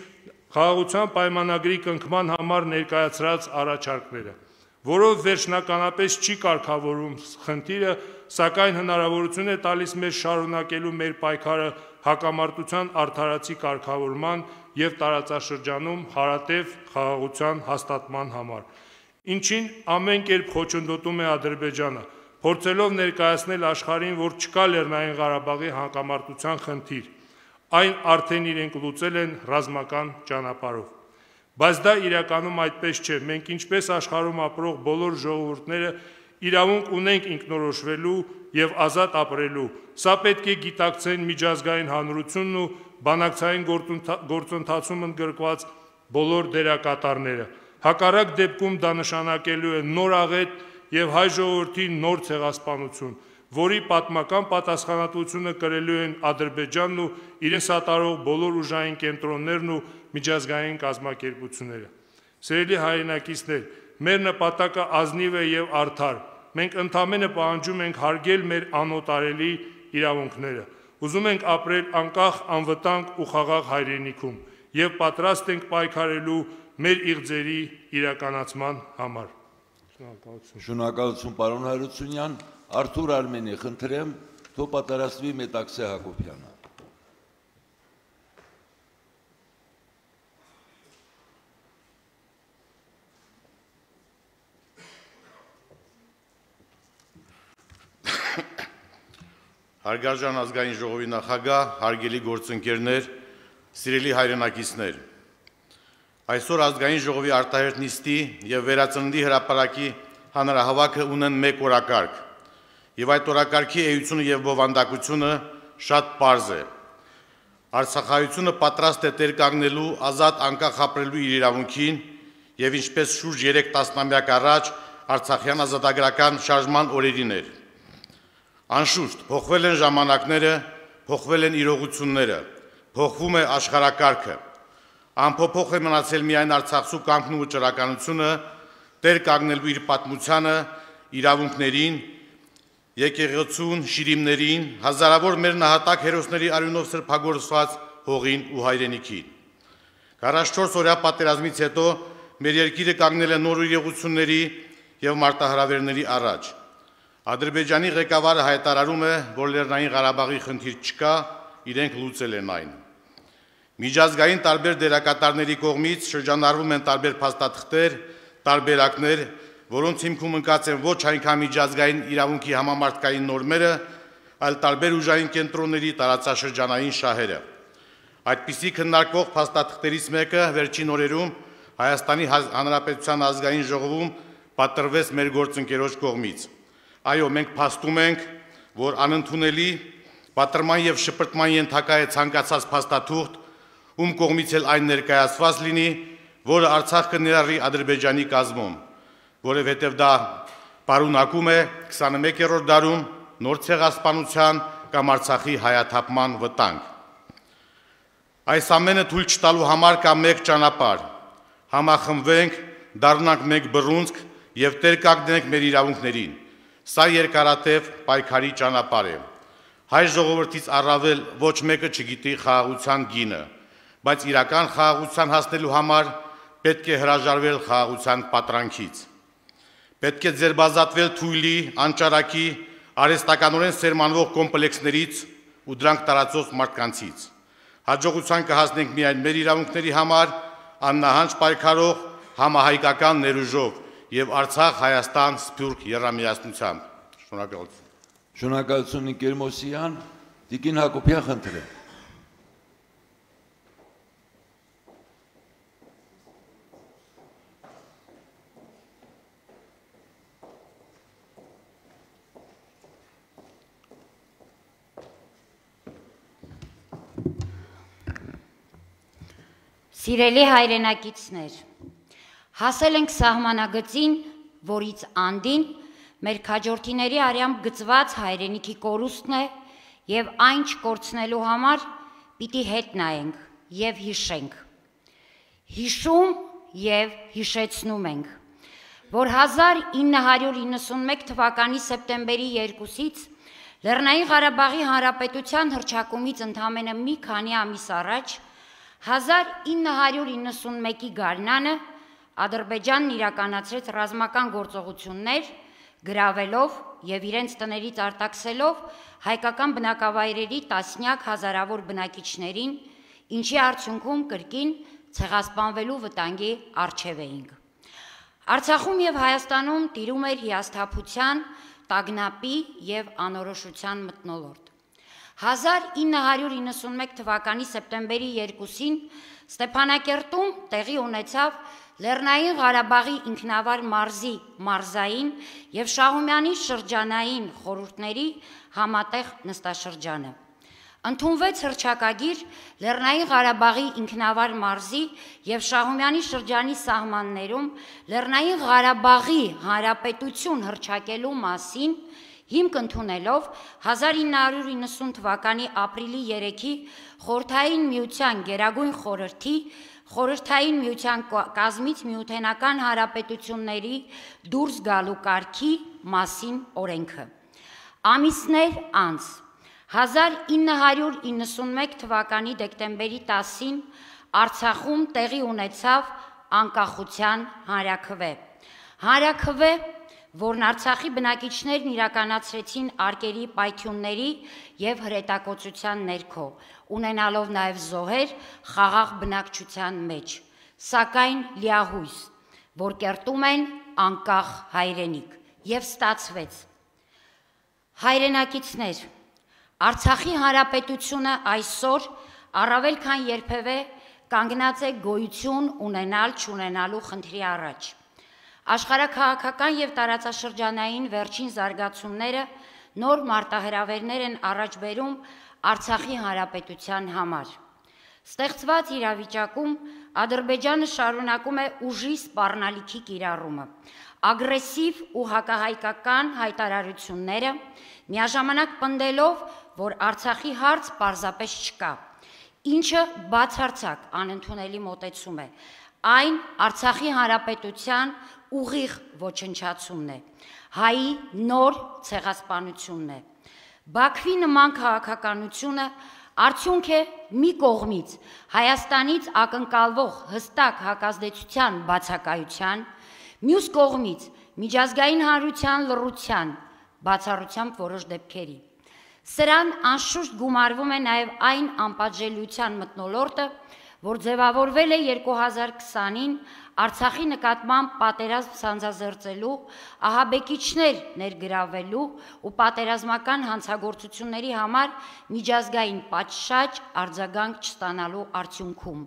խաղաղության պայմանագրի կնքման համար ներկայացրած առաջարկները, որով վերջնականապես չի կարգավորում խնդիրը, սակայն հնարավորություն է տալիս մեզ շարունակելու մեր պայքարը հակամարտության արդարացի կարգավորման եւ տարածաշրջանում հարատև խաղաղության հաստատման համար, ինչին ամեն կերպ խոչընդոտում է Ադրբեջանը, փորձելով ներկայացնել աշխարհին, որ չկա Լեռնային Ղարաբաղի հակամարտության խնդիր, այն արդեն իրենք լուծել են ռազմական ճանապարհով։ Բայց դա իրականում այդպես չէ, մենք ինչպես աշխարհում ապրող բոլոր ժողովուրդները իրավունք ունենք ինքնորոշվելու եւ ազատ ապրելու, սա պետք է գիտակցեն միջազգային հանրությունն ու բանակցային գործընթացում ընդգրկված բոլոր դերակատարները։ Հակառակ դեպքում դա նշանակելու է նոր աղետ եւ հայ ժողովրդի նոր ցեղասպանություն, որի պատմական պատասխանատվությունը կրելու են Ադրբեջանն ու իրեն սատարող բոլոր ուժային կենտրոններն ու միջազգային կազմակերպությունները։ Սիրելի հայրենակիցներ, մեր նպատակը ազնիվ է եւ արդար։ Մենք ընդամենը պահանջում ենք հարգել մեր անօտարելի իրավունքները։ Ուզում ենք ապրել անկախ, անվտանգ ու խաղաղ հայրենիքում եւ պատրաստ ենք պայքարելու մեր իղձերի իրականացման համար։ Շնորհակալություն, պարոն Հարությունյան։ Արթուր Արմենի, խնդրեմ, թող պատրաստվի Մետաքսե Հակոբյանը։ Հարգարժան ազգային ժողովի նախագահ, հարգելի գործընկերներ, սիրելի հայրենակիցներ, այսօր ազգային ժողովի արտահերթ նիստի եւ վերածննդի հրապարակի հանրահավաքը ունեն մեկ օրակարգ, եւ այդ օրակարգի էությունը եւ բովանդակությունը շատ պարզ է։ Արցախայությունը պատրաստ է տեր կանգնելու ազատ անկախ ապրելու իր իրավունքին եւ ինչպես շուրջ 3 տասնամյակ առաջ Արցախյան ազատագրական շարժման օրերին էր։ Անշուշտ, փոխվել են ժամանակները, փոխվել են իրողությունները, փոխվում է աշխարհակարգը։ Անփոփոխ է մնացել միայն Արցախցու կամքն ու վճռականությունը տեր կանգնելու իր պատմությանը, իրավունքներին, եկեղեցուն, շիրիմներին, հազարավոր մեր նահատակ հերոսների արյունով սրբագործված հողին ու հայրենիքին։ 44 օրյա պատերազմից հետո մեր երկիրը կանգնել է նոր իրողությունների եւ մարտահրավերների առաջ։ Ադրբեջանի ղեկավարը հայտարարում է, որ Լեռնային Ղարաբաղի խնդիր չկա, իրենք լուծել են այն։ Միջազգային տարբեր դերակատարների կողմից շրջանառվում են տարբեր փաստաթղթեր, տարբերակներ, որոնց հիմքում ընկած են ոչ այնքան միջազգային իրավունքի համամարտկային նորմերը, այլ տարբեր ուժային կենտրոնների տարածաշրջանային շահերը։ Այդպիսի քննարկվող փաստաթղթերից մեկը վերջին օրերում Հայաստանի Հանրապետության ազգային ժողովում պատրվեց մեր գործընկերոջ կողմից։ Այո, մենք փաստում ենք, որ անընդունելի պատրման եւ շպրտման ենթակա է ցանկացած փաստաթուղթ, ում կողմից էլ այն ներկայացված լինի, որը Արցախ կներառի Ադրբեջանի կազմում, որովհետև դա պարունակում է 21-րդ դարում նոր ցեղասպանության կամ Արցախի հայաթափման վտանգ։ Այս ամենը թույլ չտալու համար կա մեկ ճանապարհ՝ համախմբվենք, դառնանք մեկ բռունցք եւ տեր կանգնենք մեր իրավունքներին։ Սա երկարատև պայքարի ճանապարհ է։ Հայ ժողովրդից առավել ոչ մեկը չգիտի խաղաղության գինը, բայց իրական խաղաղության հասնելու համար պետք է հրաժարվել խաղաղության պատրանքից։ Պետք է ձերբազատվել թույլի, անճարակի, արհեստականորեն սերմանվող կոմպլեքսներից ու դրանք տարածող մարդկանցից։ Հաջողության կհասնենք միայն մեր իրավունքների համար աննահանջ պայքարող համահայկական ներուժով եւ Արցախ-Հայաստան սփյուռք եռամիացնությամբ։ Շնորհակալություն։ Շնորհակալություն Նիկեր Մոսյան, Տիկին Հակոբյան, խնդրեմ։ Սիրելի հայրենակիցներ, հասել ենք սահմանագծին, որից անդին մեր քաջորդիների արյամբ գծված հայրենիքի կորուստն է եւ այն չկորցնելու համար պիտի հետ նայենք եւ հիշենք։ Հիշում եւ հիշեցնում ենք, որ 1991 թվականի սեպտեմբերի 2-ից Լեռնային Ղարաբաղի Հանրապետության հռչակումից ընդամենը մի քանի ամիս առաջ 1991-ի գարնանը Ադրբեջանն իրականացրեց ռազմական գործողություններ, գրավելով եւ իրենց տներից արտաքսելով հայկական բնակավայրերի տասնյակ հազարավոր բնակիչներին, ինչի արդյունքում կրկին ցեղասպանվելու վտանգի առջև էինք։ Արցախում եւ Հայաստանում տիրում էր հիասթափության, տագնապի եւ անորոշության մթնոլորտ։ 1991 թվականի սեպտեմբերի 2-ին Ստեփանակերտում տեղի ունեցավ Լեռնային Ղարաբաղի ինքնավար մարզի մարզային եւ Շահումյանի շրջանային խորհուրդների համատեղ նստաշրջանը։ Ընդունվեց հռչակագիր Լեռնային Ղարաբաղի ինքնավար մարզի եւ Շահումյանի շրջանի սահմաններում Լեռնային Ղարաբաղի Հանրապետություն հռչակելու մասին հիմք ընդունելով 1990 թվականի ապրիլի 3-ի Խորհրդային Միության Գերագույն խորհրդի Խորհրդային Միության կազմից միութենական հանրապետությունների դուրս գալու կարգի մասին օրենքը։ Ամիսներ անց 1991 թվականի դեկտեմբերի 10-ին Արցախում տեղի ունեցավ անկախության հանրաքվե։ Հանրաքվե, որն Արցախի բնակիչներն իրականացրեցին արկերի պայթյունների եւ հրետակոծության ներքո, ունենալով նաեւ զոհեր խաղաղ բնակչության մեջ, սակայն լիահույս, որ կերտում են անկախ հայրենիք, եւ ստացվեց։ Հայրենակիցներ, Արցախի հանրապետությունը այսօր առավել քան երբևէ կանգնած է գոյություն ունենալ-չունենալու խնդրի առաջ։ Աշխարհաքաղաքական եւ տարածաշրջանային վերջին զարգացումները նոր մարտահրավերներ են առաջ բերում Արցախի հանրապետության համար։ Ստեղծված իրավիճակում Ադրբեջանը շարունակում է ուժի սպառնալիքի կիրառումը, ագրեսիվ ու հակահայկական հայտարարությունները, միաժամանակ պնդելով, որ Արցախի հարց պարզապես չկա, ինչը բացարձակ անընդունելի մոտեցում է, այն Արցախի հանրապետության ուղիղ ոչնչացումն է, հայի նոր ցեղասպանությունն է։ Բաքվի նման քաղաքականությունը արդյունք է մի կողմից Հայաստանից ակնկալվող հստակ հակազդեցության բացակայության, մյուս կողմից միջազգային հանրության լռության, բացառությամբ որոշ դեպքերի։ Սրան անշուշտ գումարվում է նաև այն անպատժելիության մթնոլորտը, որ ձևավորվել է 2020-ին Արցախի նկատմամբ պատերազմ սանձազերծելու, ահաբեկիչներ ներգրավելու ու պատերազմական հանցագործությունների համար միջազգային պատշաճ արձագանք չստանալու արդյունքում։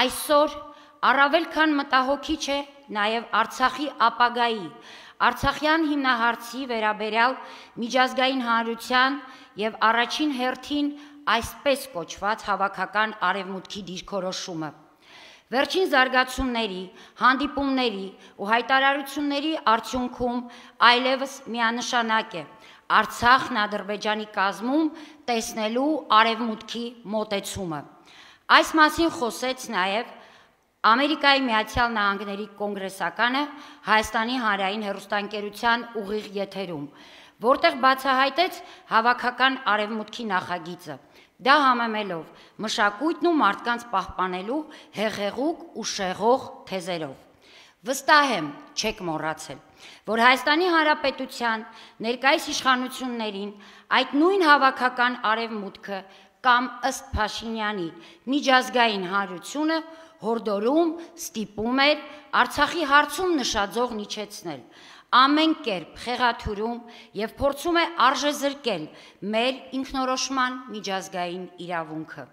Այսօր առավել քան մտահոգիչ է նաև Արցախի ապագայի, Արցախյան հիմնահարցի վերաբերյալ միջազգային հանրության եւ առաջին հերթին այսպես կոչված հավաքական արևմուտքի դիրքորոշումը։ Վերջին զարգացումների, հանդիպումների ու հայտարարությունների արդյունքում այլևս միանշանակ է Արցախն Ադրբեջանի կազմում տեսնելու արևմուտքի մոտեցումը։ Այս մասին խոսեց նաև Ամերիկայի Միացյալ Նահանգների կոնգրեսականը Հայաստանի հանրային հեռուստաընկերության ուղիղ եթերում, որտեղ բացահայտեց հավաքական արևմուտքի նախագիծը, դա համեմելով մշակույթն ու մարդկանց պահպանելու հեղեղուկ ու շեղող թեզերով։ Վստահ եմ, չեք մոռացել, որ Հայաստանի Հանրապետության ներկայիս իշխանություններին այդ նույն հավաքական արևմուտքը կամ ըստ Փաշինյանի միջազգային հանրությունը հորդորում, ստիպում էր Արցախի հարցում նշաձող իջեցնել, ամեն կերպ խեղաթյուրում եւ փորձում է արժեզրկել մեր ինքնորոշման միջազգային իրավունքը,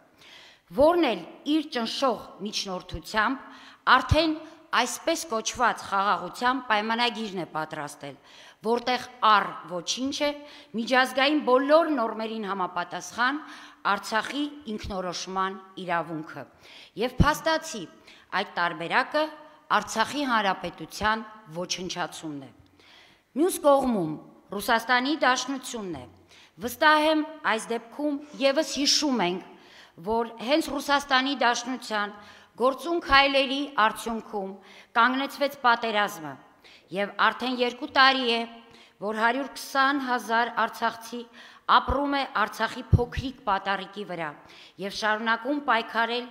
որն էլ իր ճնշող միջնորդությամբ արդեն այսպես կոչված խաղաղության պայմանագիրն է պատրաստել, որտեղ առ ոչինչ է միջազգային բոլոր նորմերին համապատասխան Արցախի ինքնորոշման իրավունքը եւ փաստացի այդ տարբերակը Արցախի հանրապետության ոչնչացումն է։ Մյուս կողմում Ռուսաստանի Դաշնությունն է։ Վստահ եմ այս դեպքում եւս հիշում ենք, որ հենց Ռուսաստանի Դաշնության գործուն քայլերի արդյունքում կանգնեցվեց պատերազմը եւ արդեն 2 տարի է, որ 120,000 արցախցի ապրում է Արցախի փոքրիկ պատառիկի վրա եւ շարունակում պայքարել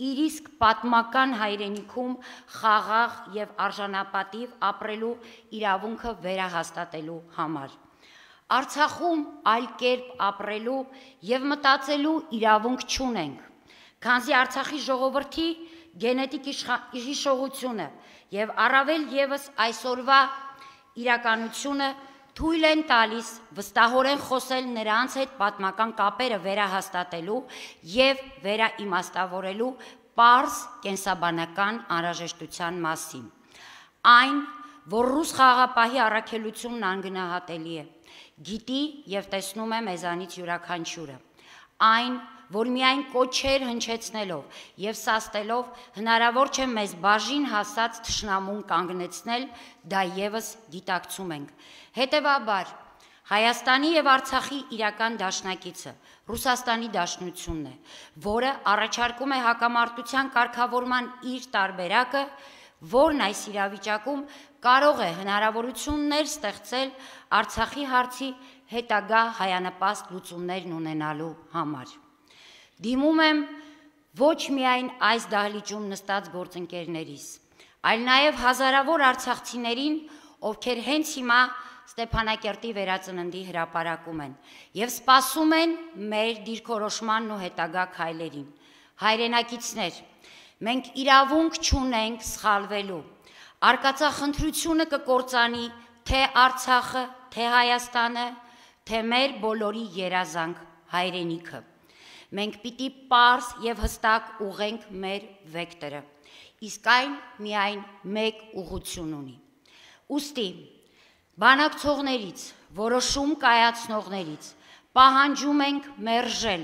իր իսկ պատմական հայրենիքում խաղաղ եւ արժանապատիվ ապրելու իրավունքը վերահաստատելու համար։ Արցախում այլ կերպ ապրելու եւ մտածելու իրավունք չունենք, քանզի Արցախի ժողովրդի գենետիկ իշխողությունը եւ առավել եւս այսօրվա իրականությունը թույլ են տալիս վստահորեն խոսել նրանց հետ պատմական կապերը վերահաստատելու եւ վերաիմաստավորելու պարզ կենսաբանական անհրաժեշտության մասին։ Այն, որ ռուս խաղաղապահի առաքելությունն անգնահատելի է, գիտի եւ տեսնում է մեզանից յուրաքանչյուրը։ Այն, որ միայն կոչեր հնչեցնելով եւ սաստելով հնարավոր չէ մեզ բաժին հասած թշնամուն կանգնեցնել, դա եւս գիտակցում ենք։ Հետևաբար Հայաստանի եւ Արցախի իրական դաշնակիցը Ռուսաստանի Դաշնությունն է, որը առաջարկում է հակամարտության կարգավորման իր տարբերակը, որն այս իրավիճակում կարող է հնարավորություններ ստեղծել Արցախի հարցի հետագա հայանպաստ լուծումներն ունենալու համար։ Դիմում եմ ոչ միայն այս դահլիճում նստած գործընկերներիս, այլ նաև հազարավոր արցախցիներին, ովքեր հենց հիմա Ստեփանակերտի վերածննդի հրապարակում են եւ սպասում են մեր դիրքորոշմանն ու հետագա քայլերին։ Հայրենակիցներ, մենք իրավունք չունենք սխալվելու։ Արկածախնդրությունը կկործանի թե Արցախը, թե Հայաստանը, թե մեր բոլորի երազանք հայրենիքը։ Մենք պիտի պարզ եւ հստակ ուղենք մեր վեկտորը, իսկ այն միայն մեկ ուղղություն ունի։ Ուստի բանակցողներից, որոշում կայացնողներից պահանջում ենք մերժել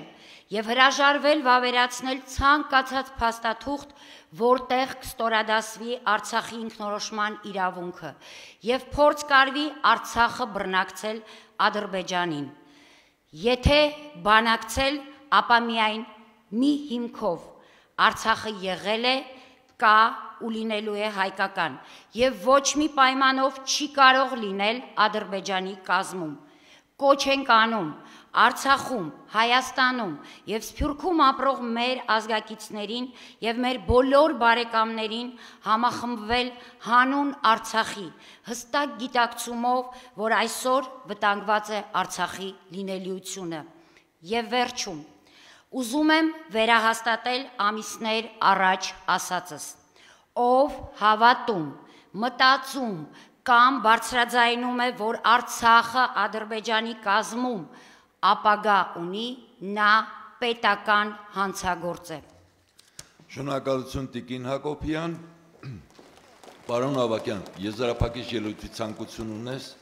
եւ հրաժարվել վավերացնել ցանկացած փաստաթուղթ, որտեղ կստորադասվի Արցախի ինքնորոշման իրավունքը եւ փորձ կարվի Արցախը բռնակցել Ադրբեջանին։ Եթե բանակցել, ապա միայն մի հիմքով Արցախը եղել է, կա ու լինելու է հայկական եւ ոչ մի պայմանով չի կարող լինել Ադրբեջանի կազմում։ Կոչ ենք անում Արցախում, Հայաստանում եւ Սփյուռքում ապրող մեր ազգակիցներին եւ մեր բոլոր բարեկամներին համախմբվել հանուն Արցախի, հստակ գիտակցումով, որ այսօր վտանգված է Արցախի լինելիությունը։ Եվ վերջում, ուզում եմ վերահաստատել ամիսներ առաջ ասածս. ով հավատում, մտածում կամ բարձրաձայնում է, որ Արցախը Ադրբեջանի կազմում ապագա ունի, նա պետական հանցագործ է։ Շնորհակալություն Տիկին Հակոբյան, պարոն Ավագյան, եզրափակիչ ելույթի ցանկություն ունես։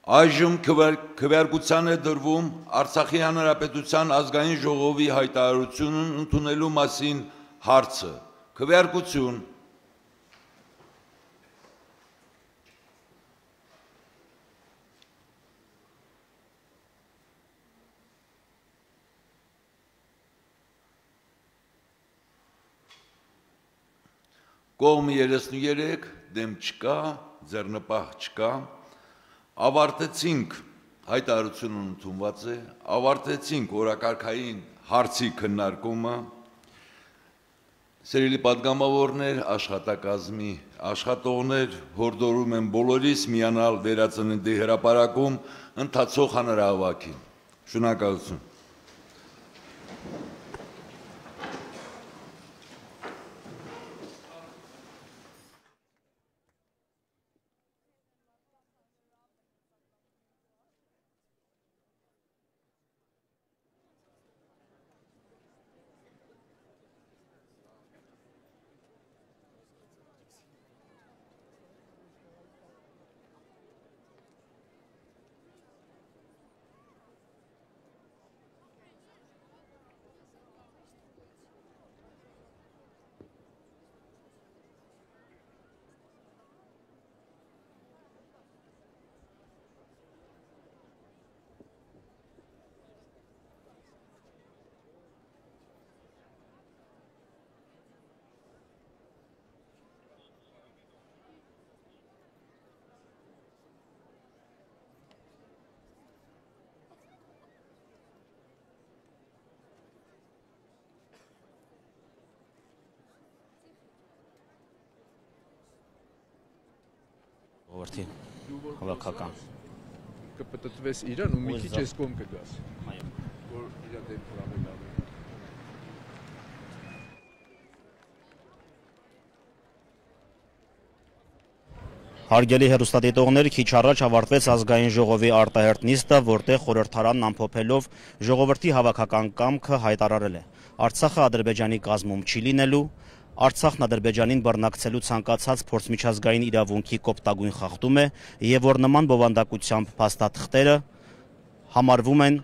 Այժմ քվեարկության է դրվում Արցախի Հանրապետության ազգային ժողովի հայտարարությունն ընդունելու մասին հարցը։ Քվեարկություն։ Կողմը 33, դեմ չկա, ձեռնպահ չկա։ Ավարտեցինք հայտարարությունն ընդունված է, ավարտեցինք օրակարգային հարցի քննարկումը, սիրելի պատգամավորներ, աշխատակազմի աշխատողներ, հորդորում եմ բոլորիս միանալ վերածննդի հրապարակում ընթացող հանրահավաքին։ Շնորհակալություն։ Որդի հավաքական կպտտվես իրան ու մի քիչ էս կողմ կգաս։ Այո։ Որ իրա դեպքը ավելի լավ է։ Հարգելի հեռուստադիտողներ, քիչ առաջ ավարտվեց ազգային ժողովի արտահերթ նիստը, որտեղ խորհրդարանն ամփոփելով ժողովրդի հավաքական կամքը հայտարարել է. Արցախը Ադրբեջանի կազմում չի լինելու, Արցախն Ադրբեջանին բռնակցելու ցանկացած փորձմիջազգային իրավունքի կոպտագույն խախտում է եւ որ նման բովանդակությամբ փաստաթղթերը համարվում են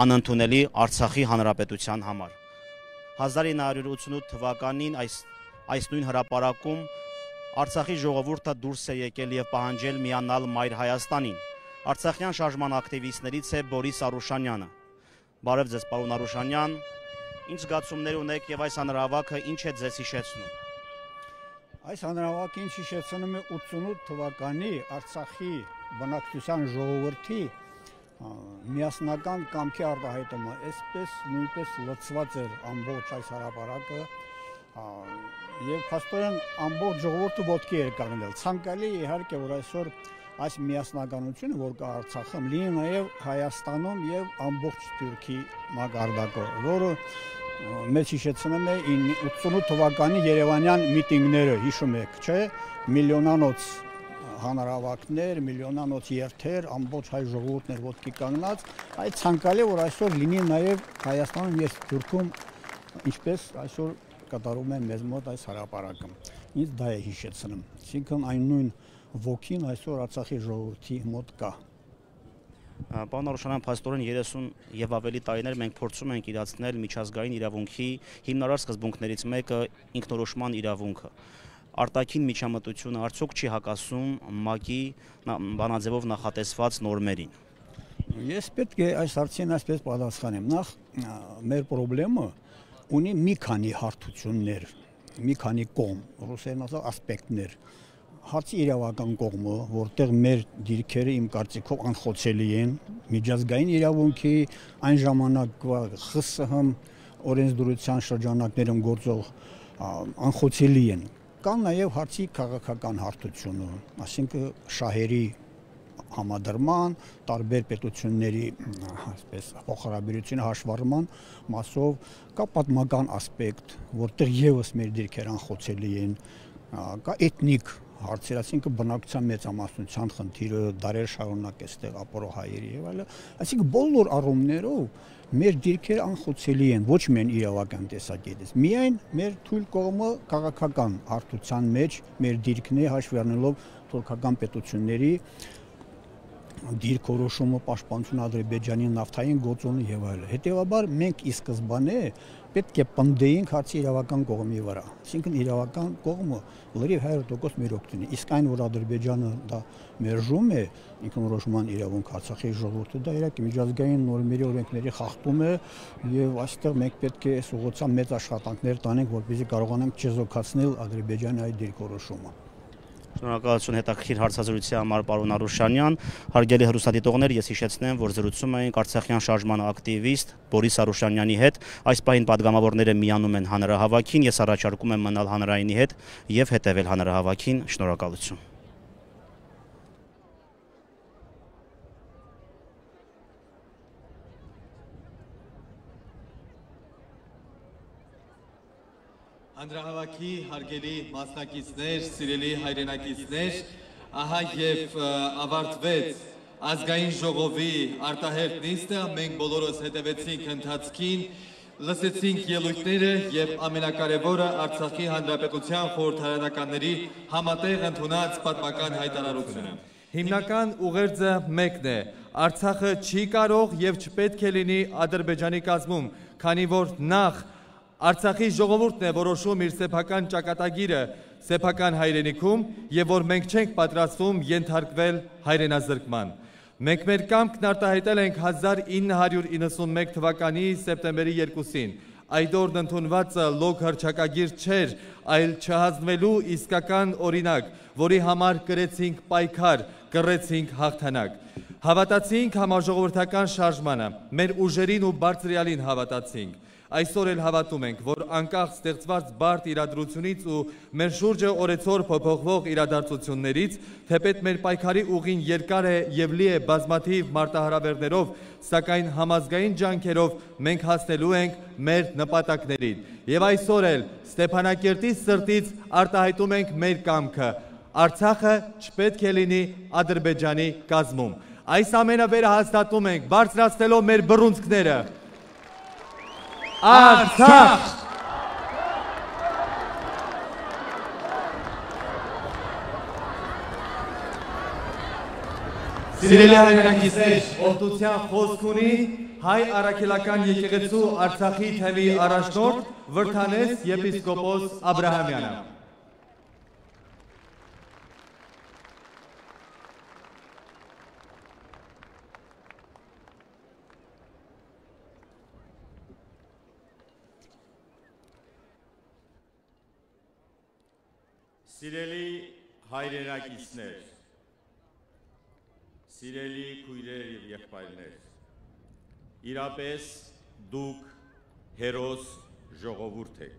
անընդունելի Արցախի հանրապետության համար։ 1988 թվականին այս նույն հրապարակում Արցախի ժողովուրդը դուրս է եկել եւ պահանջել միանալ Մայր Հայաստանին։ Արցախյան շարժման ակտիվիստներից է Բորիս Արուշանյանը։ Բարև ձեզ, պարոն Արուշանյան, ինչ զգացումներ ունեք եւ այս հանրահավաքը ինչ է ձեզ հիշեցնում։ Այս հանրահավաքը ինչ հիշեցնում է 88 թվականի Արցախի բնակչության ժողովրդի միասնական կամքի արտահայտումը, այսպես նույնպես լցված էր ամբողջ այս հրապարակը եւ փաստորեն ամբողջ ժողովուրդը ոտքի էր կանգնել։ Ցանկալի իհարկե որ այսօր այս միասնականությունը, որ կա Արցախում, լինի նաեւ Հայաստանում եւ ամբողջ Թուրքի մակարդակով, որը մեծ հիշեցնում է 88 թվականի Երևանյան միտինգները, հիշում եք, չէ՞, միլիոնանոց հանրահավաքներ, միլիոնանոց երթեր, ամբողջ հայ ժողովուրդն էր ոտքի կանգնած, այդ ցանկալի որ այսօր լինի նաեւ Հայաստանում եւ Թուրքում, ինչպես այսօր կատարում են մեզ մոտ այս հրապարակը։ Ինձ դա է հիշեցնում։ Այսինքն այն նույն ոգին այսօր Արցախի ժողովրդի մոտ կա։ Պարոն Արուշանյան, փաստորեն 30 եւ ավելի տարիներ մենք փորձում ենք իրացնել միջազգային իրավունքի հիմնարար սկզբունքներից մեկը ինքնորոշման իրավունքը։ Արտաքին միջամտությունը արդյոք չի հակասում ՄԱԿ-ի բանաձևով նախատեսված նորմերին։ Ես պետք է այս հարցին այսպես պատասխանեմ։ Նախ մեր խնդրումը ունի մի քանի հարթություններ, մի քանի կողմ, ռուսերեն ասած ասպեկտներ։ Հարցի իրավական կողմը, որտեղ մեր դիրքերը իմ կարծիքով անխոցելի են, միջազգային իրավունքի այն ժամանակվա ԽՍՀՄ օրենսդրության շրջանակներում գործող անխոցելի են։ Կան նաև հարցի քաղաքական հարթությունը, այսինքն շահերի համադրման, տարբեր պետությունների այսպես փոխհարաբերությունը հաշվառման մասով կա պատմական ասպեկտ, որտեղ եւս մեր դիրքերը անխոցելի են, կա էթնիկ հարցեր, այսինքն բնակչության մեծամասնության խնդիրը դարեր շարունակ էստեղ ապրող հայերի եւ այլն, այսինքն բոլոր առումներով մեր դիրքերը անխոցելի են, ոչ միայն իրավական տեսակետից, միայն մեր թույլ կողմը քաղաքական հարթության մեջ մեր դիրքն է հաշվի առնելով թուրքական պետությունների դիրքորոշումը, պաշտպանությունը Ադրբեջանի նավթային գործոնը եւ այլն։ Հետեւաբար մենք ի սկզբանե պետք է պնդեինք հարցի իրավական կողմի վրա։ Այսինքն իրավական կողմը լրիվ 100% մեր օգտին է։ Իսկ այն, որ Ադրբեջանը դա մերժում է ինքնորոշման իրավունք Արցախի ժողովուրդը, դա իրակի միջազգային նորմերի օրենքների խախտում է եւ այստեղ մենք պետք է այս ուղղությամբ մեծ աշխատանքներ տանենք, որպեսզի կարողանանք չեզոքացնել Ադրբեջանի այդ դիրքորոշումը։ Շնորհակալություն հետաքրքիր հարցազրույցի համար, պարոն Արուշանյան։ Հարգելի հեռուստադիտողներ, ես հիշեցնեմ, որ զրուցում էինք Արցախյան շարժման ակտիվիստ Բորիս Արուշանյանի հետ։ Այս պահին падգամավորները միանում են հանրահավաքին, ես առաջարկում եմ մնալ հանրայինի հետ եւ հետեւել հանրահավաքին։ Շնորհակալություն։ Հանրահավաքի հարգելի մասնակիցներ, սիրելի հայրենակիցներ, ահա եւ ավարտվեց ազգային ժողովի արտահերթ նիստը, մենք բոլորս հետևեցինք ընթացքին, լսեցինք ելույթները եւ ամենակարևորը Արցախի հանրապետության խորհրդարանականների համատեղ ընդունած պատմական հայտարարությունը։ Հիմնական ուղերձը մեկն է. Արցախը չի կարող եւ չպետք է լինի Ադրբեջանի կազմում, քանի որ նախ Արցախի ժողովուրդն է որոշում իր սեփական ճակատագիրը սեփական հայրենիքում եւ որ մենք չենք պատրաստվում ենթարկվել հայրենազրկման։ Մենք մեր կամքն արտահայտել ենք 1991 թվականի սեպտեմբերի 2-ին։ Այդ օրն ընդունվածը լոկ հռչակագիր չէր, այլ չհանձնվելու իսկական օրինակ, որի համար կրեցինք պայքար, կռեցինք հաղթանակ։ Հավատացինք համաժողովրդական շարժմանը, մեր ուժերին ու բարձրյալին հավատացինք։ Այսօր էլ հավատում ենք, որ անկախ ստեղծված բարդ իրադրությունից ու մեր շուրջը օրեցօր փոփոխվող իրադարձություններից, թեպետ մեր պայքարի ուղին երկար է եւ լի է բազմաթիվ մարտահրավերներով, սակայն համազգային ջանքերով մենք հասնելու ենք մեր նպատակներին։ Եվ այսօր էլ Ստեփանակերտի սրտից արտահայտում ենք մեր կամքը։ Արցախը չպետք է լինի Ադրբեջանի կազմում։ Այս ամենը վերահաստատում ենք, բարձրացնելով մեր բռունցքները։ Արցախ! Սիրելի հայրենակիցներ, օգնության խոսք ունի հայ առաքելական եկեղեցու Արցախի թեմի առաջնորդ Վրդանես եպիսկոպոս Աբրահամյանը։ Սիրելի հայրենակիցներ, սիրելի քույրեր եւ եղբայրներ, իրապես դուք հերոս ժողովուրդ եք։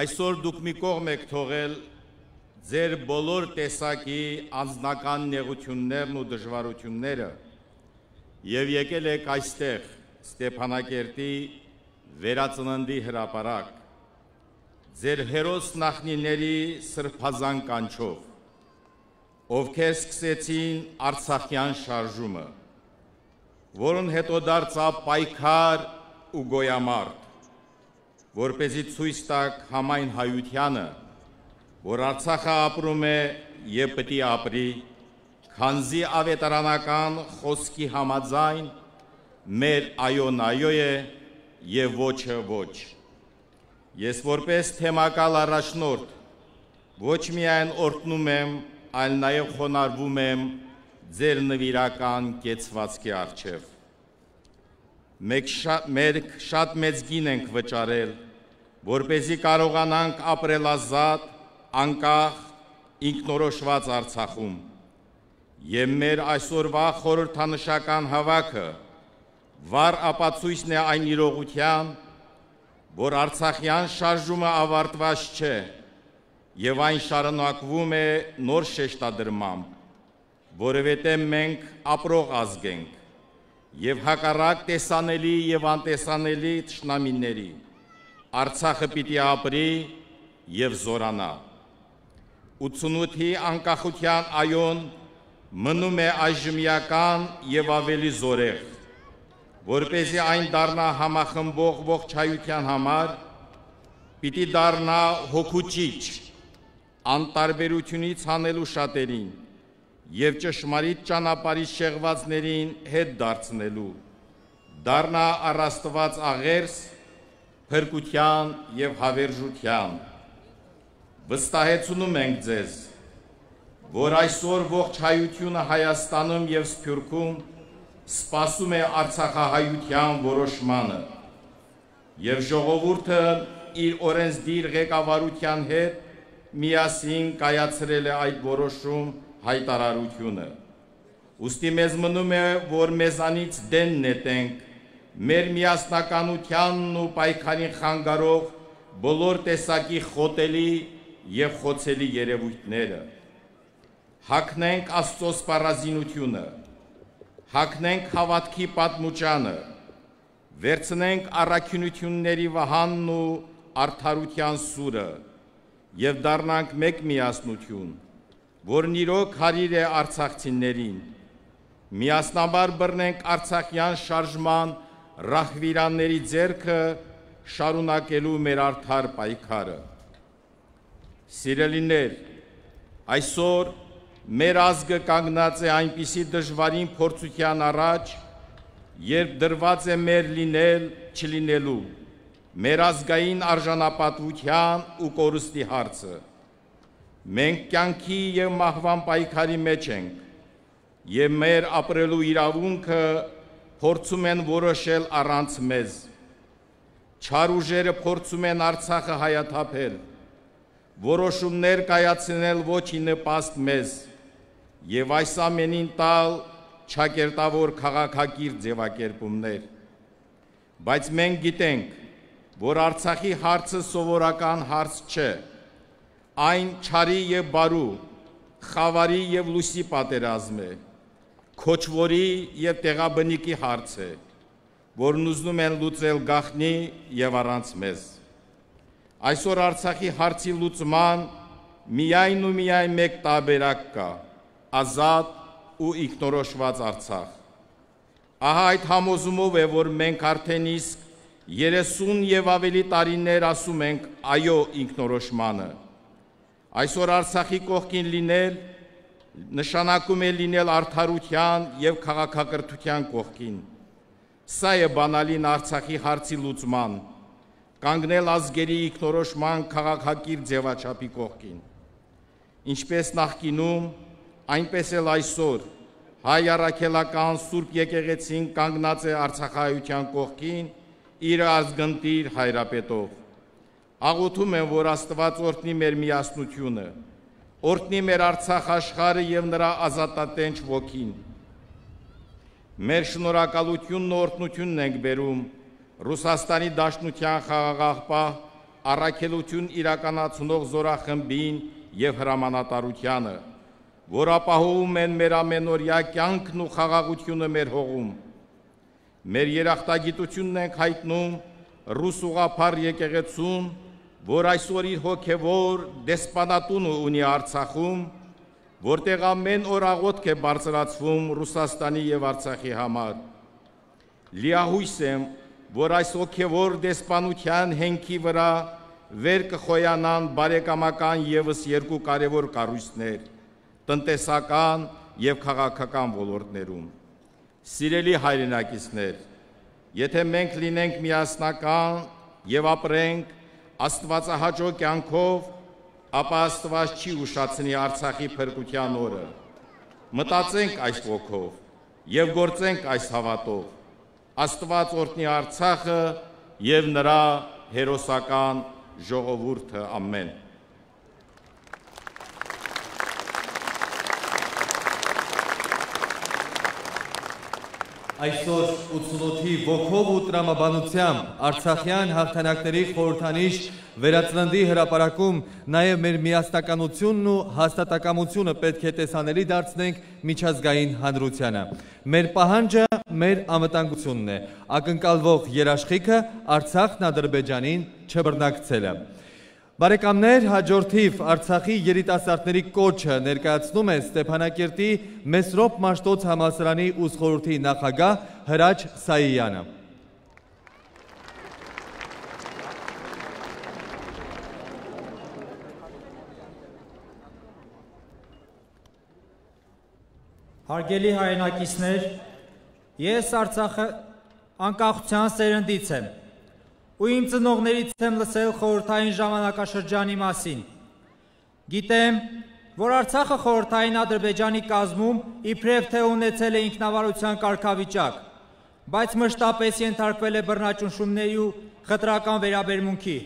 Այսօր դուք մի կողմ եք թողել ձեր բոլոր տեսակի անձնական նեղություններն ու դժվարությունները եւ եկել եք այստեղ Ստեփանակերտի վերածննդի հրապարակ ձեր հերոս նախնիների սրբազան կանչով, ովքեր սկսեցին Արցախյան շարժումը, որոնց հետո դարձավ պայքար ու գոյամարտ, որպեսզի ցույց տաք համայն հայությանը, որ Արցախը ապրում է եւ պետք է ապրի, քանզի ավետարանական խոսքի համաձայն մեր այոն այո է եւ ոչը ոչ։ Ես որպես թեմակալ առաջնորդ ոչ միայն օրհնում եմ, այլ նաև խոնարհվում եմ ձեր նվիրական կեցվածքի առջև։ Մենք շատ մեծ գին ենք վճարել, որպեսզի կարողանանք ապրել ազատ, անկախ, ինքնորոշված Արցախում։ Եվ մեր այսօրվա խորհրդանշական հավաքը վառ ապացույցն է այն իրողության, որ Արցախյան շարժումը ավարտված չէ եւ այն շարունակվում է նոր շեշտադրմամբ, որովհետեւ մենք ապրող ազգ ենք եւ հակառակ տեսանելի եւ անտեսանելի թշնամիների Արցախը պիտի ապրի եւ զորանա։ 88-ի անկախության այոն մնում է այժմյական եւ ավելի զորեղ, որպեսզի այն դառնա համախմբող ողջայության համար, պիտի դառնա հոգուճիչ, անտարբերությունից հանելու շատերին եւ ճշմարիտ ճանապարհի շեղվածներին հետ դարձնելու, դառնա առաստված աղերս, փրկության եւ հավերժության։ Վստահեցնում ենք ձեզ, որ այսօր ողջ հայությունը Հայաստանում եւ Սփյուռքում սպասում է արցախահայության որոշմանը եւ ժողովուրդը իր օրենսդիր ղեկավարության հետ միասին կայացրել է այդ որոշում հայտարարությունը։ Ուստի մեզ մնում է, որ մեզանից դեն նետենք մեր միասնականությանն ու պայքարին խանգարող բոլոր տեսակի խոտելի եւ խոցելի երևույթները։ Հագնենք Աստծո սպառազինությունը, հագնենք հավատքի պատմուճանը, վերցնենք առաքինությունների վահանն ու արդարության սուրը եւ դառնանք մեկ միասնություն, որն իրոք հարիր է արցախցիներին։ Միասնաբար բռնենք Արցախյան շարժման ռահվիրանների ձեռքը շարունակելու մեր արդար պայքարը։ Սիրելիներ, այսօր մեր ազգը կանգնած է այնպիսի դժվարին փորձության առաջ, երբ դրված է մեր լինել չլինելու, մեր ազգային արժանապատվության ու կորստի հարցը։ Մենք կյանքի եւ մահվան պայքարի մեջ ենք, եւ մեր ապրելու իրավունքը փորձում են որոշել առանց մեզ։ Չար ուժերը փորձում են Արցախը հայաթափել, որոշումներ կայացնել ոչի նպաստ մեզ եւ այս ամենին տալ չակերտավոր քաղաքակիրթ ձևակերպումներ։ Բայց մենք գիտենք, որ Արցախի հարցը սովորական հարց չէ, այն չարի և բարու, խավարի և լույսի պատերազմ է, քոչվորի և տեղաբնիկի հարց է, որն ուզում են լուծել գաղտնի և առանց մեզ։ Այսօր Արցախի հարցի լուծման միայն ու միայն մեկ տարբերակ կա՝ ազատ ու ինքնորոշված Արցախ։ Ահա այդ համոզումով է, որ մենք արդեն իսկ 30 և ավելի տարիներ ասում ենք այո ինքնորոշմանը։ Այսօր Արցախի կողքին լինել նշանակում է լինել արդարության և քաղաքակրթության կողքին։ Սա է բանալին Արցախի հարցի լուծման, կանգնել ազգերի ինքնորոշման քաղաքակիրթ ձևաչափի կողքին։ Ինչպես նախկինում, այնպես էլ այսօր հայ առաքելական Սուրբ եկեղեցին կանգնած է արցախայության կողքին իր ազգընտիր հայրապետով։ Աղոթում եմ, որ Աստված օրհնի մեր միասնությունը, օրհնի մեր Արցախ աշխարհը և նրա ազատատենչ ոգին։ Մեր շնորհակալությունն ու օրհնությունն ենք բերում Ռուսաստանի Դաշնության խաղաղապահ առաքելություն իրականացնող զորախմբին և հրամանատարությանը, որ ապահովում են մեր ամենօրյա կյանքն ու խաղաղությունը մեր հողում։ Մեր երախտագիտությունն ենք հայտնում ռուս ուղղափառ եկեղեցուն, որ այսօր իր հոգևոր դեսպանատունը ունի Արցախում, որտեղ ամեն օր աղոթք է բարձրացվում Ռուսաստանի և Արցախի համար։ Լիահույս եմ, որ այս հոգևոր դեսպանության հենքի վրա վեր կխոյանան բարեկամական ևս երկու կարևոր կառույցներ՝ տնտեսական և քաղաքական ոլորտներում։ Սիրելի հայրենակիցներ, եթե մենք լինենք միասնական և ապրենք աստվածահաճո կյանքով, ապա Աստված չի ուշացնի Արցախի փրկության օրը։ Մտածենք այս ոգով և գործենք այս հավատով։ Աստված օրհնի Արցախը և նրա հերոսական ժողովուրդը, ամեն։ Այսօր 88-ի ոգով ու տրամաբանությամբ Արցախյան հաղթանակների խորհրդանիշ վերածննդի հրապարակում նաև մեր միասնականությունն ու հաստատակամությունը պետք է տեսանելի դարձնենք միջազգային հանրությանը։ Մեր պահանջը մեր անվտանգությունն է, ակնկալվող երաշխիքը Արցախն Ադրբեջանին չբռնակցելը։ Բարեկամներ, հաջորդիվ Արցախի երիտասարդների կոչը ներկայացնում է Ստեփանակերտի Մեսրոպ Մաշտոց համալսարանի ուսխորհրդի նախագահ Հրաչ Սայյանը։ Հարգելի հայրենակիցներ, ես Արցախի անկախության սերնդից եմ ու իմ ծնողներից եմ լսել խորհրդային ժամանակաշրջանի մասին։ Գիտեմ, որ Արցախը խորհրդային Ադրբեջանի կազմում իբրև թե ունեցել է ինքնավարության կարգավիճակ, բայց մշտապես ենթարկվել է բռնաճնշումների ու խտրական վերաբերմունքի։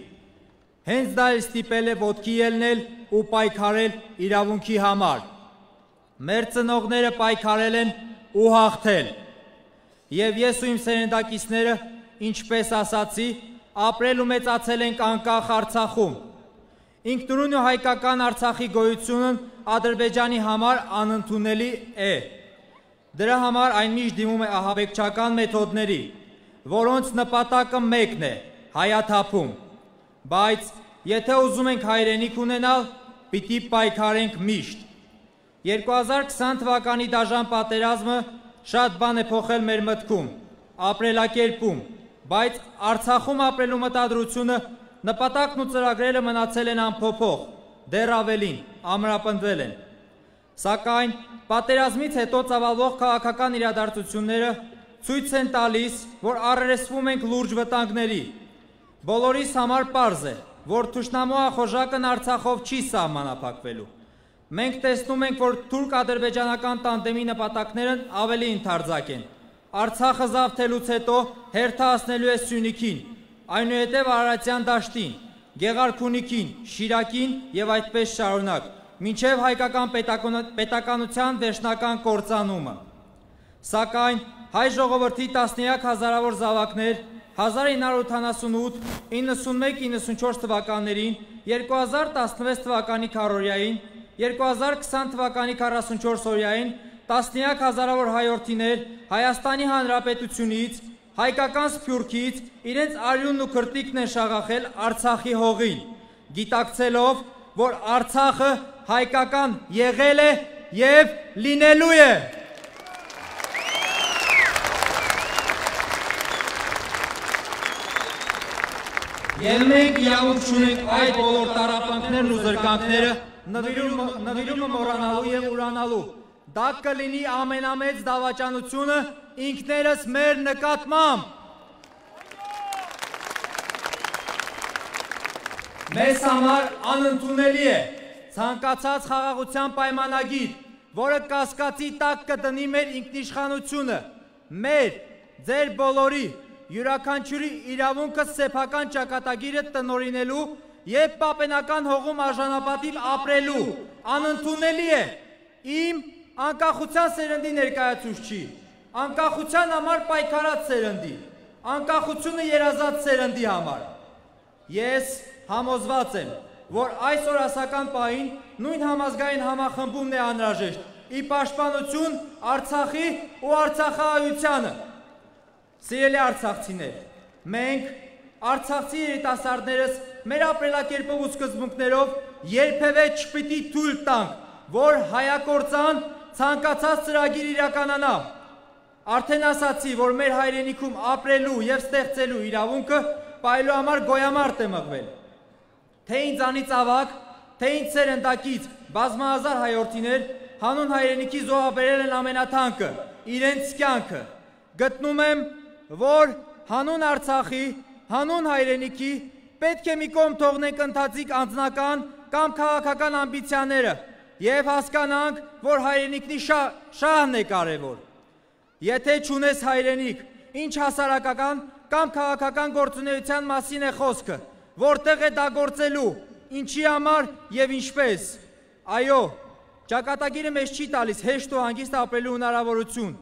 Հենց դա էլ ստիպել է ոտքի ելնել ու պայքարել իրավունքի համար։ Մեր ծնողները պայքարել են ու հաղթել։ Եվ ես ու իմ սերնդակիցները, ինչպես ասացի, ապրել ու մեծացել ենք անկախ Արցախում։ Ինքնուրույն ու հայկական Արցախի գոյությունն Ադրբեջանի համար անընդունելի է։ Դրա համար այն միշտ դիմում է ահաբեկչական մեթոդների, որոնց նպատակը մեկն է՝ հայաթափում։ Բայց եթե ուզում ենք հայրենիք ունենալ, պիտի պայքարենք միշտ։ 2020 թվականի դաժան պատերազմը շատ բան է փոխել մեր մտքում, ապրելակերպում, բայց Արցախում ապրելու մտադրությունը, նպատակն ու ծրագրերը մնացել են անփոփոխ, դեռ ավելին, ամրապնդվել են։ Սակայն պատերազմից հետո ծավալվող քաղաքական իրադարձությունները ցույց են տալիս, որ առերեսվում ենք լուրջ վտանգների։ Բոլորիս համար պարզ է, որ թշնամու ախորժակն Արցախով չի սահմանափակվելու։ Մենք տեսնում ենք, որ թուրք-ադրբեջանական տանդեմի նպատակներն ավելի ընդարձակ են։ Արցախը զավթելուց հետո հերթացնելու է Սյունիքին, այնուհետև Արարատյան դաշտին, Գեղարքունիքին, Շիրակին և այդպես շարունակ, մինչև հայկական պետականության վերջնական կործանումը։ Սակայն հայ ժողովրդի տասնյակ հազարավոր զավակներ 1988-91-94 թվականներին, 2016 թվականի քառորյային, 2020 թվականի 44-օրյային տասնյակ հազարավոր հայորդիներ Հայաստանի Հանրապետությունից, հայկական Սփյուռքից իրենց արյունն ու քրտիկն են շաղախել Արցախի հողին, գիտակցելով, որ Արցախը հայկական եղել է եւ լինելու է։ Եվ մենք իրավունք չունենք այդ բոլոր տառապանքներն ու զրկանքները նվիրումը մոռանալու եւ ուրանալու։ Դա կլինի ամենամեծ դավաճանությունը ինքներս մեր նկատմամբ։ Մեզ համար անընդունելի է ցանկացած խաղաղության պայմանագիր, որը կասկածի տակ կդնի մեր ինքնիշխանությունը, մեր, ձեր բոլորի, յուրաքանչյուրի իրավունքը սեփական ճակատագիրը տնօրինելու եւ պապենական հողում արժանապատիվ ապրելու, անընդունելի է իմ անկախության սերնդի ներկայացուցչի, անկախության համար պայքարած սերնդի, անկախությունը երազած սերնդի համար։ Ես համոզված եմ, որ այս օրասական պահին նույն համազգային համախմբումն է անհրաժեշտ՝ ի պաշտպանություն Արցախի ու արցախահայությանը։ Սիրելի արցախցիներ, մենք արցախցի երիտասարդներս մեր ապրելակերպով ու սկզբունքներով երբևէ չպիտի թույլ տանք, որ հայակործան ցանկացած ծրագիր իրականանա։ Արդեն ասացի, որ մեր հայրենիքում ապրելու եւ ստեղծելու իրավունքը պայելու համար գոյամարտ է մղվել։ Թե ինձանից ավագ, թե ինձ սերնդակից բազմահազար հայորդիներ հանուն հայրենիքի զոհաբերել են ամենաթանկը, իրենց կյանքը։ Գտնում եմ, որ հանուն Արցախի, հանուն հայրենիքի պետք է մի կողմ թողնենք ընթացիկ անձնական կամ քաղաքական ամբիցիաները եւ հասկանանք, որ հայրենիքնի շահն է կարևոր։ Եթե չունես հայրենիք, ինչ հասարակական կամ քաղաքական գործունեության մասին է խոսքը, որտեղ է դա գործելու, ինչի համար եւ ինչպես։ Այո, ճակատագիրը մեզ չի տալիս հեշտ ու հանգիստ ապրելու հնարավորություն,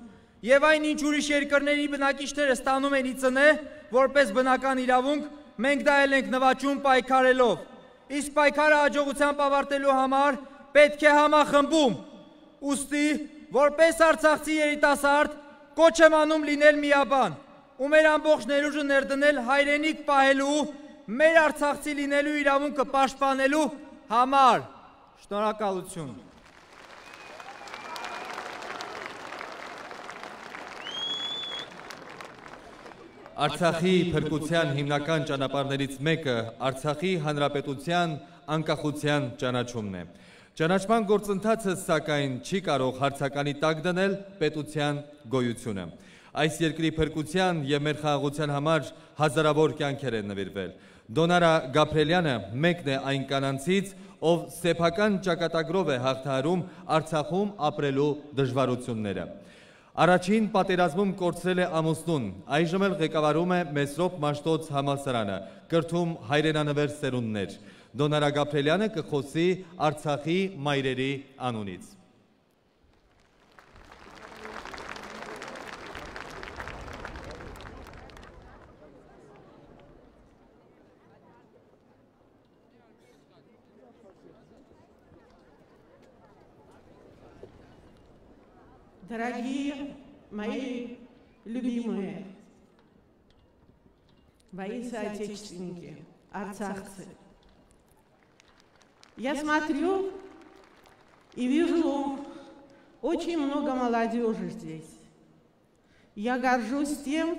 եւ այն ինչ ուրիշ երկրների բնակիչները ստանում են ի ծնե, որպես բնական իրավունք, մենք դա էլ ենք նվաճում պայքարելով։ Իսկ պայքարը հաջողությամբ ավարտելու համար պետք է համախմբում։ Ուստի, որպես արցախցի երիտասարդ, կոչ եմ անում լինել միաբան, ու մեր ամբողջ ներուժը ներդնել հայրենիք պահելու, մեր արցախցի լինելու իրավունքը պաշտպանելու համար։ Շնորհակալություն։ Արցախի փրկության հիմնական ճանապարհներից մեկը Արցախի հանրապետության անկախության ճանաչումն է։ Ճանաչման գործընթացը սակայն չի կարող հարցականի տակ դնել պետության գոյությունը։ Այս երկրի փրկության եւ մեր խաղաղության համար հազարավոր կյանքեր են նվիրվել։ Դոնարա Գաբրելյանը մեկն է այն կանանցից, ով սեփական ճակատագրով է հաղթահարում Արցախում ապրելու դժվարությունները։ Առաջին պատերազմում կորցրել է ամուսնուն, այժմ էլ ղեկավարում է Մեսրոպ Մաշտոց համալսարանը, կրթում հայրենանվեր սերունդներ։ Դոնարա Գաբրելյանը կխոսի Արցախի մայրերի անունից։ Дорогие мои любимые мои соотечественники, арцахцы, я смотрю и вижу очень много молодежи здесь. Я горжусь тем,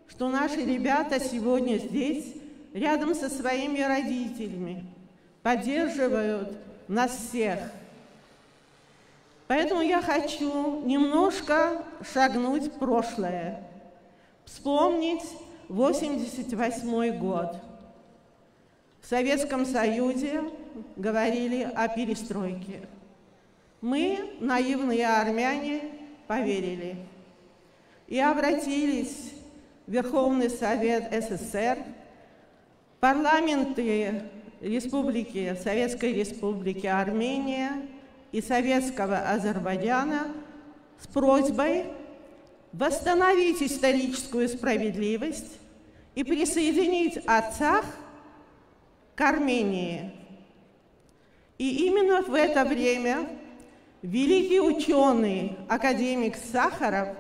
что наши ребята сегодня здесь, рядом со своими родителями, поддерживают нас всех. Поэтому я хочу немножко шагнуть в прошлое, вспомнить 1988 год. В Советском Союзе говорили о перестройке. Мы, наивные армяне, поверили и обратились в Верховный Совет СССР, парламенты Республики, Советской Республики Армения и Советского Азербайджана с просьбой восстановить историческую справедливость и присоединить Арцах к Армении. И именно в это время великий ученый, академик Сахаров,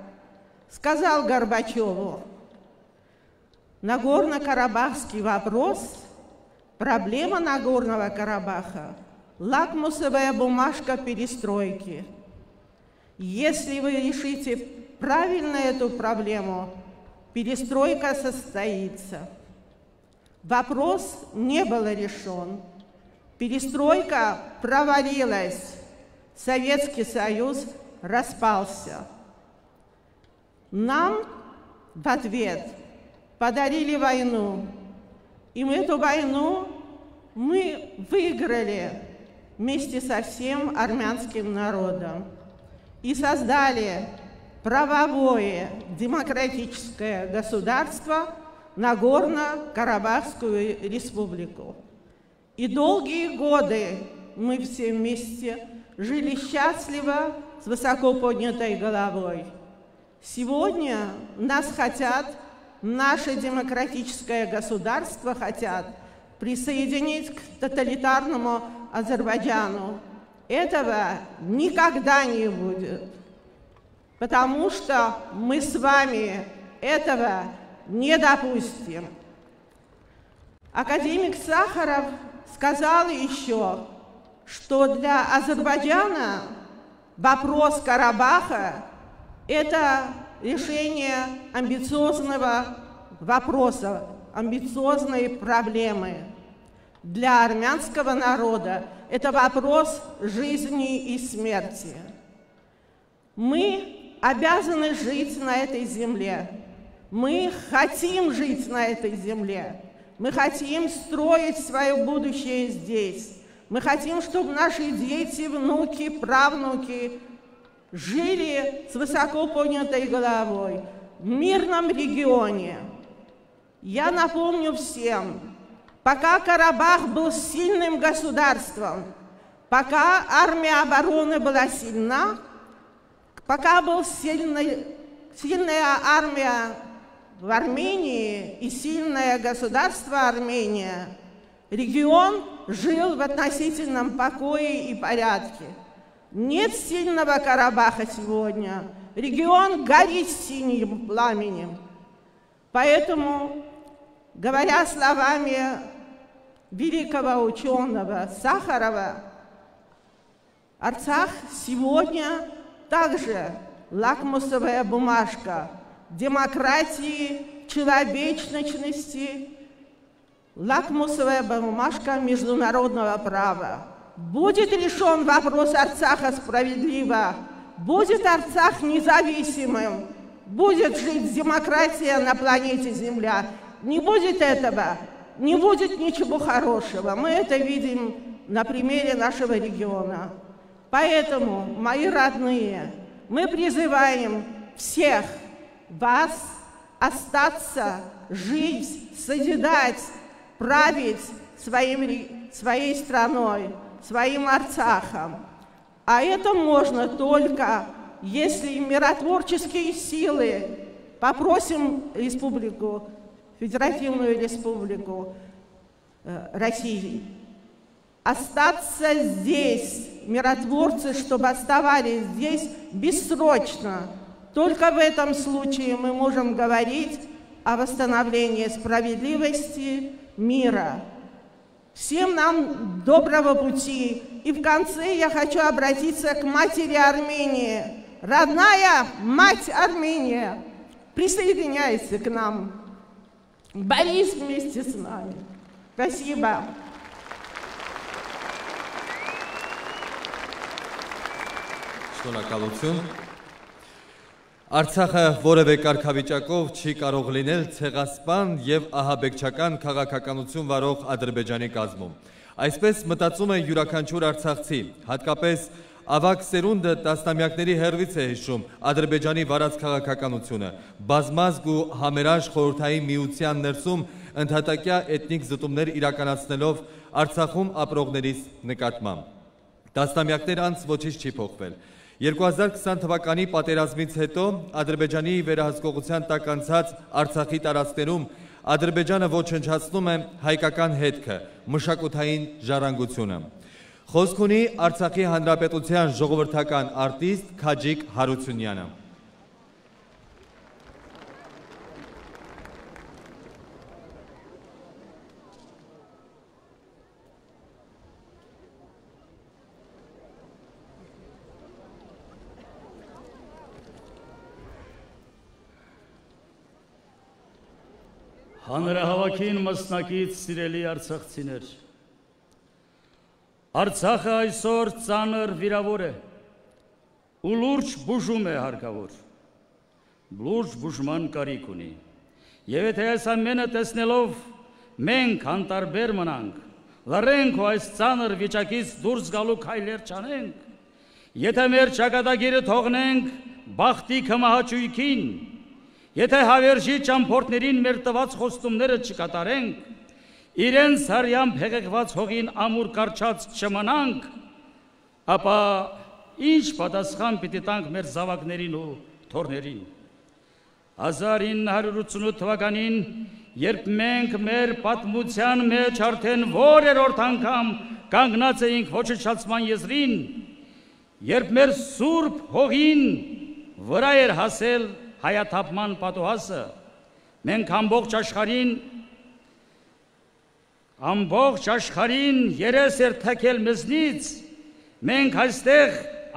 сказал Горбачеву: Нагорно-Карабахский вопрос, проблема Нагорного Карабаха, лакмусовая бумажка перестройки. Если вы решите правильно эту проблему, перестройка состоится. Вопрос не был решен. Перестройка провалилась. Советский Союз распался. Нам в ответ подарили войну. И эту войну мы выиграли вместе со всем армянским народом. И создали правовое демократическое государство Нагорно-Карабахскую республику. И долгие годы мы все вместе жили счастливо, с высоко поднятой головой. Сегодня нас хотят, наше демократическое государство хотят присоединить к тоталитарному Азербайджану. Этого никогда не будет, потому что мы с вами этого не допустим. Академик Сахаров сказал еще, что для Азербайджана вопрос Карабаха – это решение амбициозного вопроса, амбициозной проблемы. Для армянского народа это вопрос жизни и смерти. Мы обязаны жить на этой земле. Мы хотим жить на этой земле. Мы хотим строить свое будущее здесь. Мы хотим, чтобы наши дети, внуки, правнуки жили с высоко поднятой головой в мирном регионе. Я напомню всем, пока Карабах был сильным государством, пока армия обороны была сильна, пока была сильная армия в Армении и сильное государство Армения, регион жил в относительном покое и порядке. Нет сильного Карабаха сегодня. Регион горит синим пламенем. Поэтому, говоря словами великого ученого Сахарова, Арцах сегодня также лакмусовая бумажка демократии, человечности, лакмусовая бумажка международного права. Будет решен вопрос Арцаха справедливо, будет Арцах независимым, будет жить демократия на планете Земля. Не будет этого, не будет ничего хорошего. Мы это видим на примере нашего региона. Поэтому, мои родные, мы призываем всех вас остаться, жить, созидать, править своей страной, своим Арцахом. А это можно только, если миротворческие силы, попросим республику, Федеративную Республику России, остаться здесь, миротворцы, чтобы оставались здесь бессрочно. Только в этом случае мы можем говорить о восстановлении справедливости, мира. Всем нам доброго пути. И в конце я хочу обратиться к матери Армении. Родная мать Армения, присоединяйся к нам. Борись вместе с нами. Спасибо. Շնորհակալություն։ Արցախը որևէ կարգավիճակով չի կարող լինել ցեղասպան եւ ահաբեկչական քաղաքականություն վարող Ադրբեջանի կազմում։ Այսպես մտածում է յուրաքանչյուր արցախցի, հատկապես ավագ սերունդը տասնամյակների հեռվից է հիշում Ադրբեջանի վարած քաղաքականությունը, բազմազգ ու համերաշխ խորհրդային միության ներսում ընդհատակյա էթնիկ զտումներ իրականացնելով Արցախում ապրողներից նկատմամբ։ Տասնամյակներ անց ոչինչ չի փոխվել։ 2020 թվականի պատերազմից հետո Ադրբեջանի վերահսկողության տակ անցած Արցախի տարածքներում Ադրբեջանը ոչնչացնում է հայկական հետքը, մշակութային ժառանգությունը։ Խոսք ունի Արցախի Հանրապետության ժողովրդական արտիստ Քաջիկ Հարությունյանը։ Հանրահավաքին մասնակից սիրելի արցախցիներ, Արցախը այսօր ծանր վիրավոր է ու լուրջ բուժում է հարկավոր, լուրջ բուժման կարիք ունի, և եթե այս ամենը տեսնելով մենք անտարբեր մնանք, լռենք ու այս ծանր վիճակից դուրս գալու քայլեր չանենք, եթե մեր ճակատագիրը թողնենք բախտի կմահաճույքին, եթե հավերժի ճամփորդներին մեր տված խոստումները չկատարենք, իրենց հարյամբ հեղեղված հողին ամուր կարճած չմնանք, ապա ինչ պատասխան պիտի տանք մեր զավակներին ու թոռներին։ 1988 թվականին, երբ մենք մեր պատմության մեջ արդեն որերորդ անգամ կանգնած էինք ոչնչացման եզրին, երբ մեր սուրբ հողին վրա էր հասել հայաթափման պատուհասը, մենք ամբողջ աշխարհին երես էր թքել մեզնից, մենք այստեղ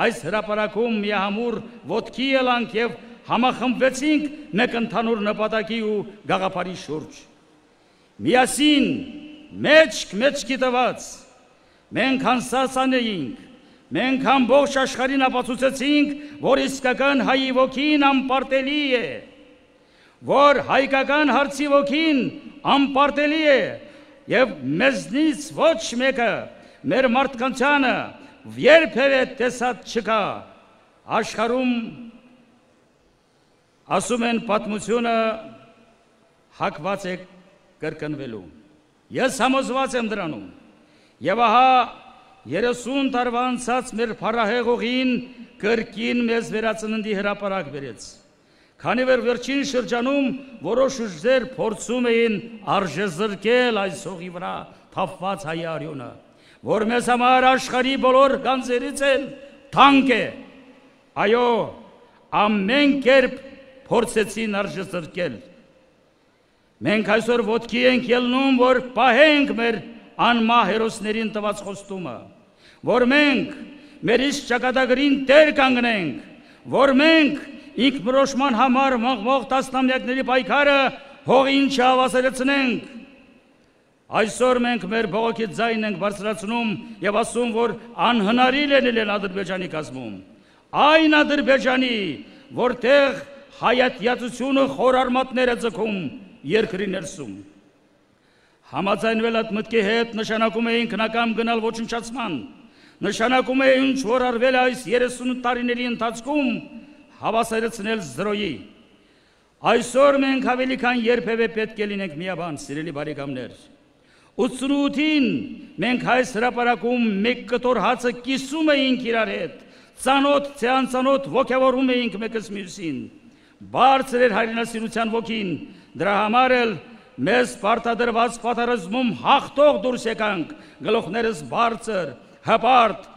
այս հրապարակում միահամուռ ոտքի ելանք և համախմբվեցինք մեկ ընդհանուր նպատակի ու գաղափարի շուրջ։ Միասին, մեջքի տված, մենք անսասանեինք, մենք ամբողջ աշխարհին ապացուցեցինք, որ իսկական հայի ոգին անպարտելի է, որ հայկական հարցի ոգին անպարտելի է, և մեզնից ոչ մեկը մեր մարդկանցանը երբևէ տեսած չկա։ Աշխարհում ասում են պատմությունը հակված է կրկնվելու։ Ես համոզված եմ դրանում, և ահա 30 տարվա անցած մեր փառահեղ ուղին կրկին մեզ վերածննդի հրապարակ բերեց։ Քանի որ վերջին շրջանում որոշ ուժեր փորձում էին արժեզրկել այս հողի վրա թափված հայ արյունը, որ մեզ համար աշխարհի բոլոր գանձերից էլ թանկ է։ Այո, ամեն կերպ փորձեցին արժեզրկել։ Մենք այսօր ոտքի ենք ելնում, որ պահենք մեր անմահ հերոսներին տված խոստումը, որ մենք մեր իսկ ճակատագրին տեր կանգնենք, որ մենք ինքնորոշման համար մղվող տասնամյակների պայքարը հողին չհավասարեցնենք։ Այսօր մենք մեր բողոքի ձայնն ենք բարձրացնում և ասում, որ անհնարին է լինել Ադրբեջանի կազմում, այն Ադրբեջանի, որտեղ հայատյացությունը խոր արմատներ է ձգում երկրի ներսում։ Համաձայնվել այդ մտքի հետ նշանակում է ինքնակամ գնալ ոչնչացման, նշանակում է ինչ որ արվել այս 30 տարիների ընթացքում հավասարեցնել զրոյի։ Այսօր մենք ավելի քան երբևէ պետք է լինենք միաբան, սիրելի բարեկամներ։ 88-ին մենք այս հրապարակում մեկ կտոր հացը կիսում էինք իրար հետ, ծանոթ թե անծանոթ ոգևորում էինք մեկս մյուսին։ Բարձր էր հայրենասիրության ոգին, դրա համար էլ մեզ պարտադրված պատերազմում հաղթող դուրս եկանք, գլուխներս բարձր, հպարտ,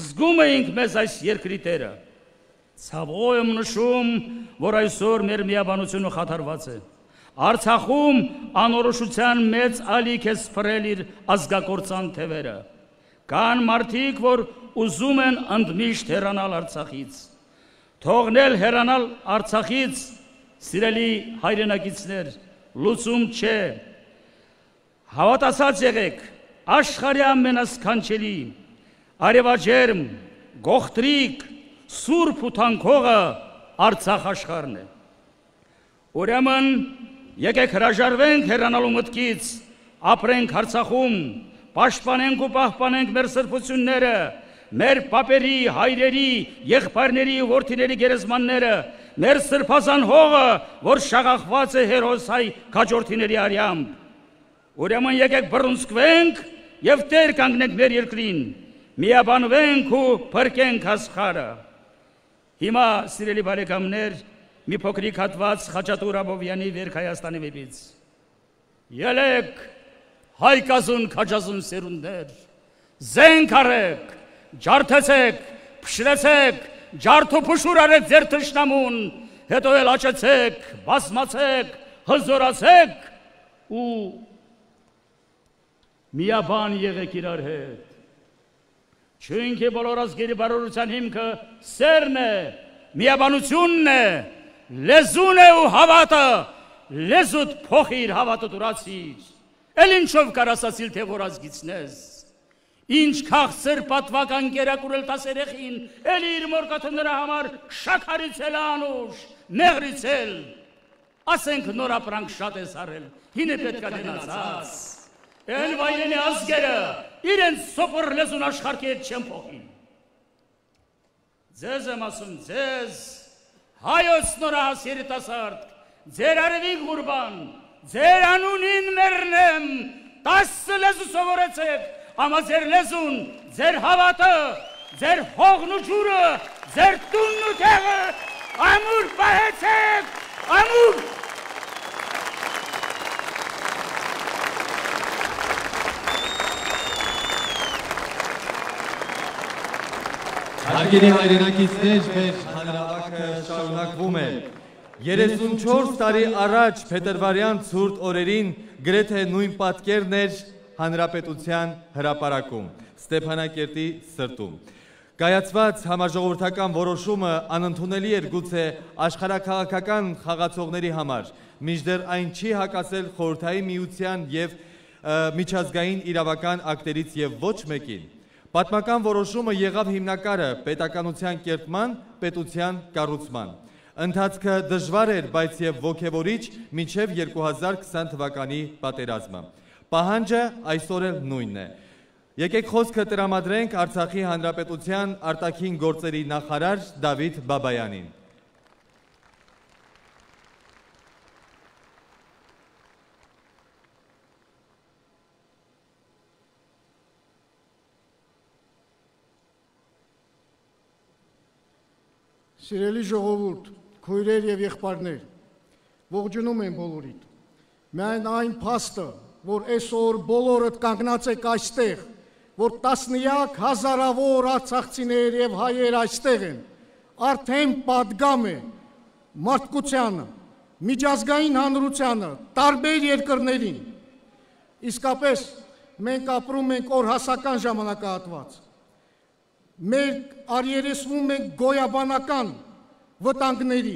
զգում էինք մեզ այս երկրի տերը։ Ցավով եմ նշում, որ այսօր մեր միաբանությունը խաթարված է։ Արցախում անորոշության մեծ ալիք է սփռել իր ազգակործան թևերը։ Կան մարդիկ, որ ուզում են ընդմիշտ հեռանալ Արցախից։ Թողնել հեռանալ Արցախից, սիրելի հայրենակիցներ, լուծում չէ։ Հավատացած եղեք, աշխարհի ամենասքանչելի, արևաջերմ, գողտրիկ, սուրբ ու թանքողը Արցախ աշխարհն է։ Ուրեմն եկեք հրաժարվենք հեռանալու մտքից, ապրենք Արցախում, պաշտպանենք ու պահպանենք մեր սրբությունները, մեր պապերի, հայրերի, եղբայրների ու որդիների գերեզմանները, մեր սրբազան հողը, որ շաղախված է հերոս հայ քաջորդիների արյամբ։ Ուրեմն եկեք բռունցքվենք և տեր կանգնենք մեր երկրին, միաբանվենք ու փրկենք աշխարհը։ Հիմա, սիրելի բարեկամներ, մի փոքրիկ հատված Խաչատուր Աբովյանի Վերք Հայաստանի վեպից։ Ելեք, հայկազուն քաջազուն սերունդներ, զենք արեք, ջարդեցեք, փշրեցեք, ջարդու փշուր արեք ձեր թշնամուն, հետո էլ աճեցեք, բազմացեք, հզորացեք ու միաբան եղեք իրար հետ։ Չունքի բոլոր ազգերի բարօրության հիմքը սերն է, միաբանությունն է, լեզուն է ու հավատը, լեզուդ փոխիր, հավատը դուրացիր, էլ ինչով կար ասացիլ, թե որ ազգիցնես, ինչ քաղցր պատվական կերակուրել տաս երեխին, էլ իր մորկաթը նրա համար շաքարիցել անուշ, նեղրիցել, ասենք նոր ապրանք շատ ես արել, հին է պետք է դենացած, էլ վայրենի ազգերը իրենց սոպոր լեզուն աշխարհի հետ չեն փոխին։ Ձեզ եմ ասում, ձեզ, հայոց նորահաս երիտասարդ, ձեր արևիկ ղուրբան, ձեր անունին մեռնեմ, 10 լեզու սովորեցեք, ամա ձեր լեզուն, ձեր հավատը, ձեր հողն ու ջուրը, ձեր տունն ու տեղը, ամուր պահեցեք, ամուր։ Հարգելի հայրենակիցներ, մեր հանրավակը շարունակվում է։ 34 տարի առաջ փետրվարյան ցուրտ օրերին գրեթե նույն պատկերն էր հանրապետության հրապարակում, Ստեփանակերտի սրտում։ Կայացված համաժողովրդական որոշումը անընդունելի էր գուցե աշխարհաքաղաքական խաղացողների համար, մինչդեռ այն չի հակասել Խորհրդային Միության և միջազգային իրավական ակտերից և ոչ մեկին։ Պատմական որոշումը եղավ հիմնակարը պետականության կերտման, պետության կառուցման։ Ընթացքը դժվար էր, բայց և ոգևորիչ մինչև 2020 թվականի պատերազմը։ Պահանջը այսօր էլ նույնն է։ Եկեք խոսքը տրամադրենք Արցախի Հանրապետության արտաքին գործերի նախարար Դավիթ Բաբայանին։ Սիրելի ժողովուրդ, քույրեր և եղբայրներ, ողջունում եմ բոլորիդ։ Միայն այն փաստը, որ այսօր բոլորդ կանգնած եք այստեղ, որ տասնյակ հազարավոր արցախցիներ և հայեր այստեղ են, արդեն պատգամ է մարդկությանը, միջազգային հանրությանը, տարբեր երկրներին։ Իսկապես մենք ապրում ենք օրհասական ժամանակահատված։ Մենք առերեսվում ենք գոյաբանական վտանգների,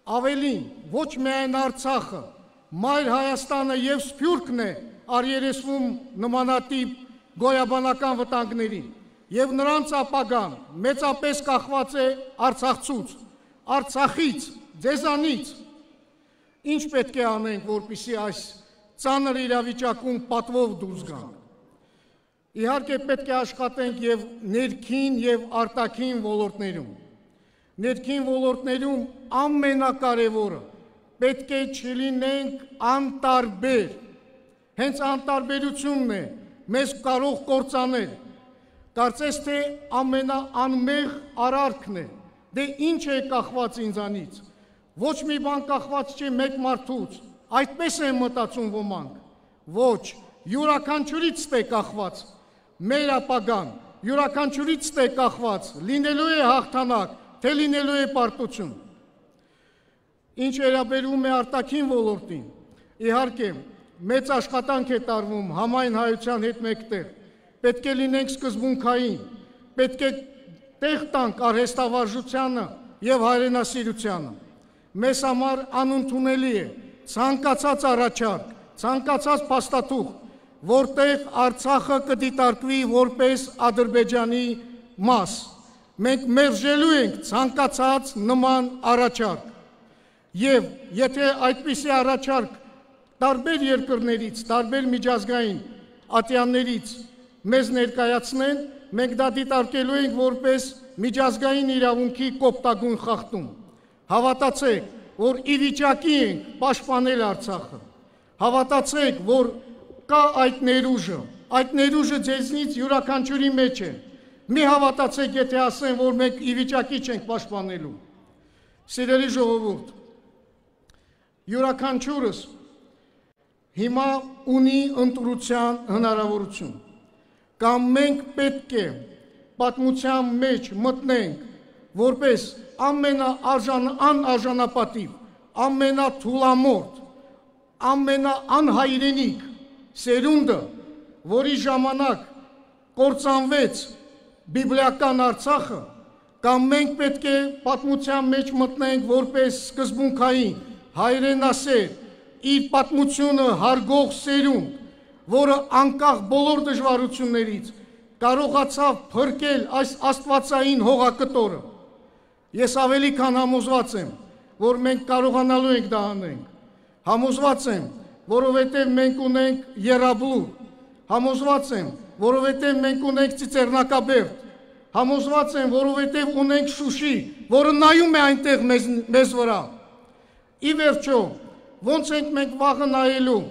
ավելին ոչ միայն Արցախը, մայր Հայաստանը և Սփյուռքն է առերեսվում նմանատիպ գոյաբանական վտանգներին, և նրանց ապագան մեծապես կախված է Արցախցուց, Արցախից, ձեզանից։ Ինչ պետք է անենք, որպեսզի այս ծանր իրավիճակում պատվով դուրս գանք։ Իհարկե պետք է աշխատենք և ներքին և արտաքին ոլորտներում։ Ներքին ոլորտներում ամենակարևորը պետք է չլինենք անտարբեր։ Հենց անտարբերությունն է մեզ կարող կործանել։ Կարծես թե ամենաանմեղ արարքն է։ Դե ինչ է կախված ինձանից։ Ոչ մի բան կախված չէ մեկ մարդուց։ Այդպես են մտածում ոմանք։ Ոչ, յուրաքանչյուրից է կախված։ Մեր ապագան յուրաքանչյուրից է կախված, լինելու է հաղթանակ, թե լինելու է պարտություն։ Ինչ վերաբերում է արտաքին ոլորտին, իհարկե մեծ աշխատանք է տարվում համայն հայության հետ մեկտեղ, պետք է լինենք սկզբունքային, պետք է տեղ տանք արհեստավարժությանը և հայրենասիրությանը։ Մեզ համար անընդունելի է ցանկացած առաջարկ, ցանկացած փաստաթուղթ, որտեղ Արցախը կդիտարկվի որպես Ադրբեջանի մաս։ Մենք մերժելու ենք ցանկացած նման առաջարկ։ Եվ եթե այդպիսի առաջարկ տարբեր երկրներից, տարբեր միջազգային ատյաններից մեզ ներկայացնեն, մենք դա դիտարկելու ենք որպես միջազգային իրավունքի կոպտագույն խախտում։ Հավատացեք, որ ի վիճակի ենք պաշտպանել Արցախը։ Հավատացեք, որ կա այդ ներուժը ձեզնից յուրաքանչյուրի մեջ է։ Մի հավատացեք, եթե ասեն, որ մենք ի վիճակի չենք պաշտպանելու։ Սիրելի ժողովուրդ, յուրաքանչյուրս հիմա ունի ընտրության հնարավորություն, կամ մենք պետք է պատմության մեջ մտնենք, որպես անարժանապատիվ, ամենաթուլամորթ, ամենաանհայրենիք սերունդը, որի ժամանակ կործանվեց բիբլիական Արցախը, կամ մենք պետք է պատմության մեջ մտնենք որպես սկզբունքային, հայրենասեր, իր պատմությունը հարգող սերունդ, որը անկախ բոլոր դժվարություններից կարողացավ փրկել այս աստվածային հողակտորը։ Ես ավելի քան համոզված եմ, որ մենք կարողանալու ենք դա անենք։ Համոզված եմ, որովհետև մենք ունենք Եռաբլուր, համոզված եմ, որովհետև մենք ունենք Ծիծեռնակաբերդ, համոզված եմ, որովհետև ունենք Շուշի, որը նայում է այնտեղ մեզ վրա։ Ի վերջո, ոնց ենք մենք վաղը նայելու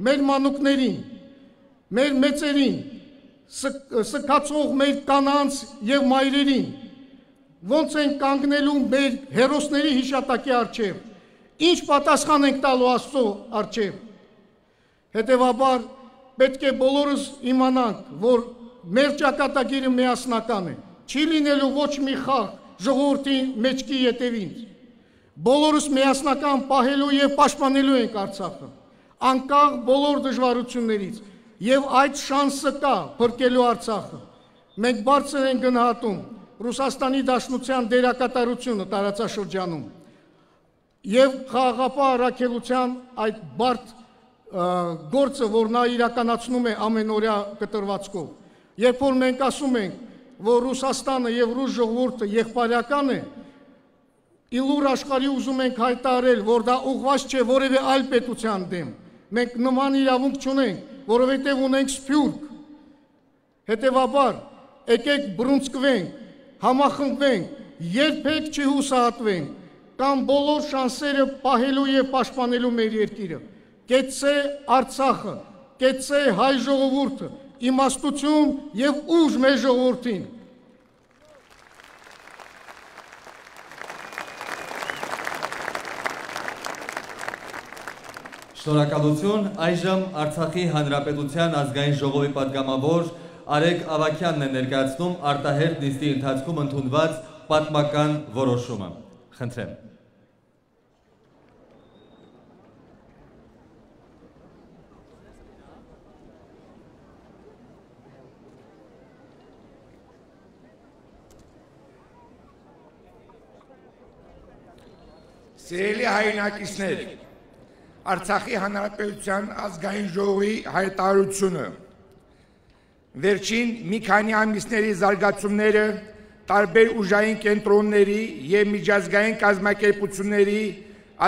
մեր մանուկներին, մեր մեծերին, սքացող մեր կանանց և մայրերին, ոնց ենք կանգնելու մեր հերոսների հիշատակի առջև, ինչ պատասխան ենք տալու Աստծո առջև։ Հետևաբար պետք է բոլորս իմանանք, որ մեր ճակատագիրը միասնական է, չի լինելու ոչ մի խաղ ժողովրդի մեջքի ետևից։ Բոլորս միասնական պահելու և պաշտպանելու ենք Արցախը, անկախ բոլոր դժվարություններից, և այդ շանսը կա փրկելու Արցախը։ Մենք բարձր ենք գնահատում Ռուսաստանի Դաշնության դերակատարությունը տարածաշրջանում և խաղաղապահ առաքելության այդ բարդ գործը, որ նա իրականացնում է ամենօրյա կտրվածքով։ Երբ որ մենք ասում ենք, որ Ռուսաստանը և ռուս ժողովուրդը եղբայրական է, իլուր աշխարհի ուզում ենք հայտարարել, որ դա ուղղված չէ որևէ այլ պետության դեմ։ Մենք նման իրավունք չունենք, որովհետև ունենք սփյուռք։ Հետևաբար, եկեք բռունցքվենք, համախմբվենք, երբեք չհուսահատվենք, կամ բոլոր շանսերը պահելու և պաշտպանելու մեր երկիրը։ Կեցցե Արցախը, կեցցե հայ ժողովուրդը, իմաստություն և ուժ մեր ժողովրդին։ Շնորհակալություն, այժմ Արցախի Հանրապետության ազգային ժողովի պատգամավոր Արեգ Ավագյանն է ներկայացնում արտահերթ նիստի ընթացքում ընդունված պատմական որոշումը։ Խնդրեմ։ Սիրելի հայրենակիցներ, Արցախի Հանրապետության ազգային ժողովի հայտարարությունը վերջին մի քանի ամիսների զարգացումները տարբեր ուժային կենտրոնների և միջազգային կազմակերպությունների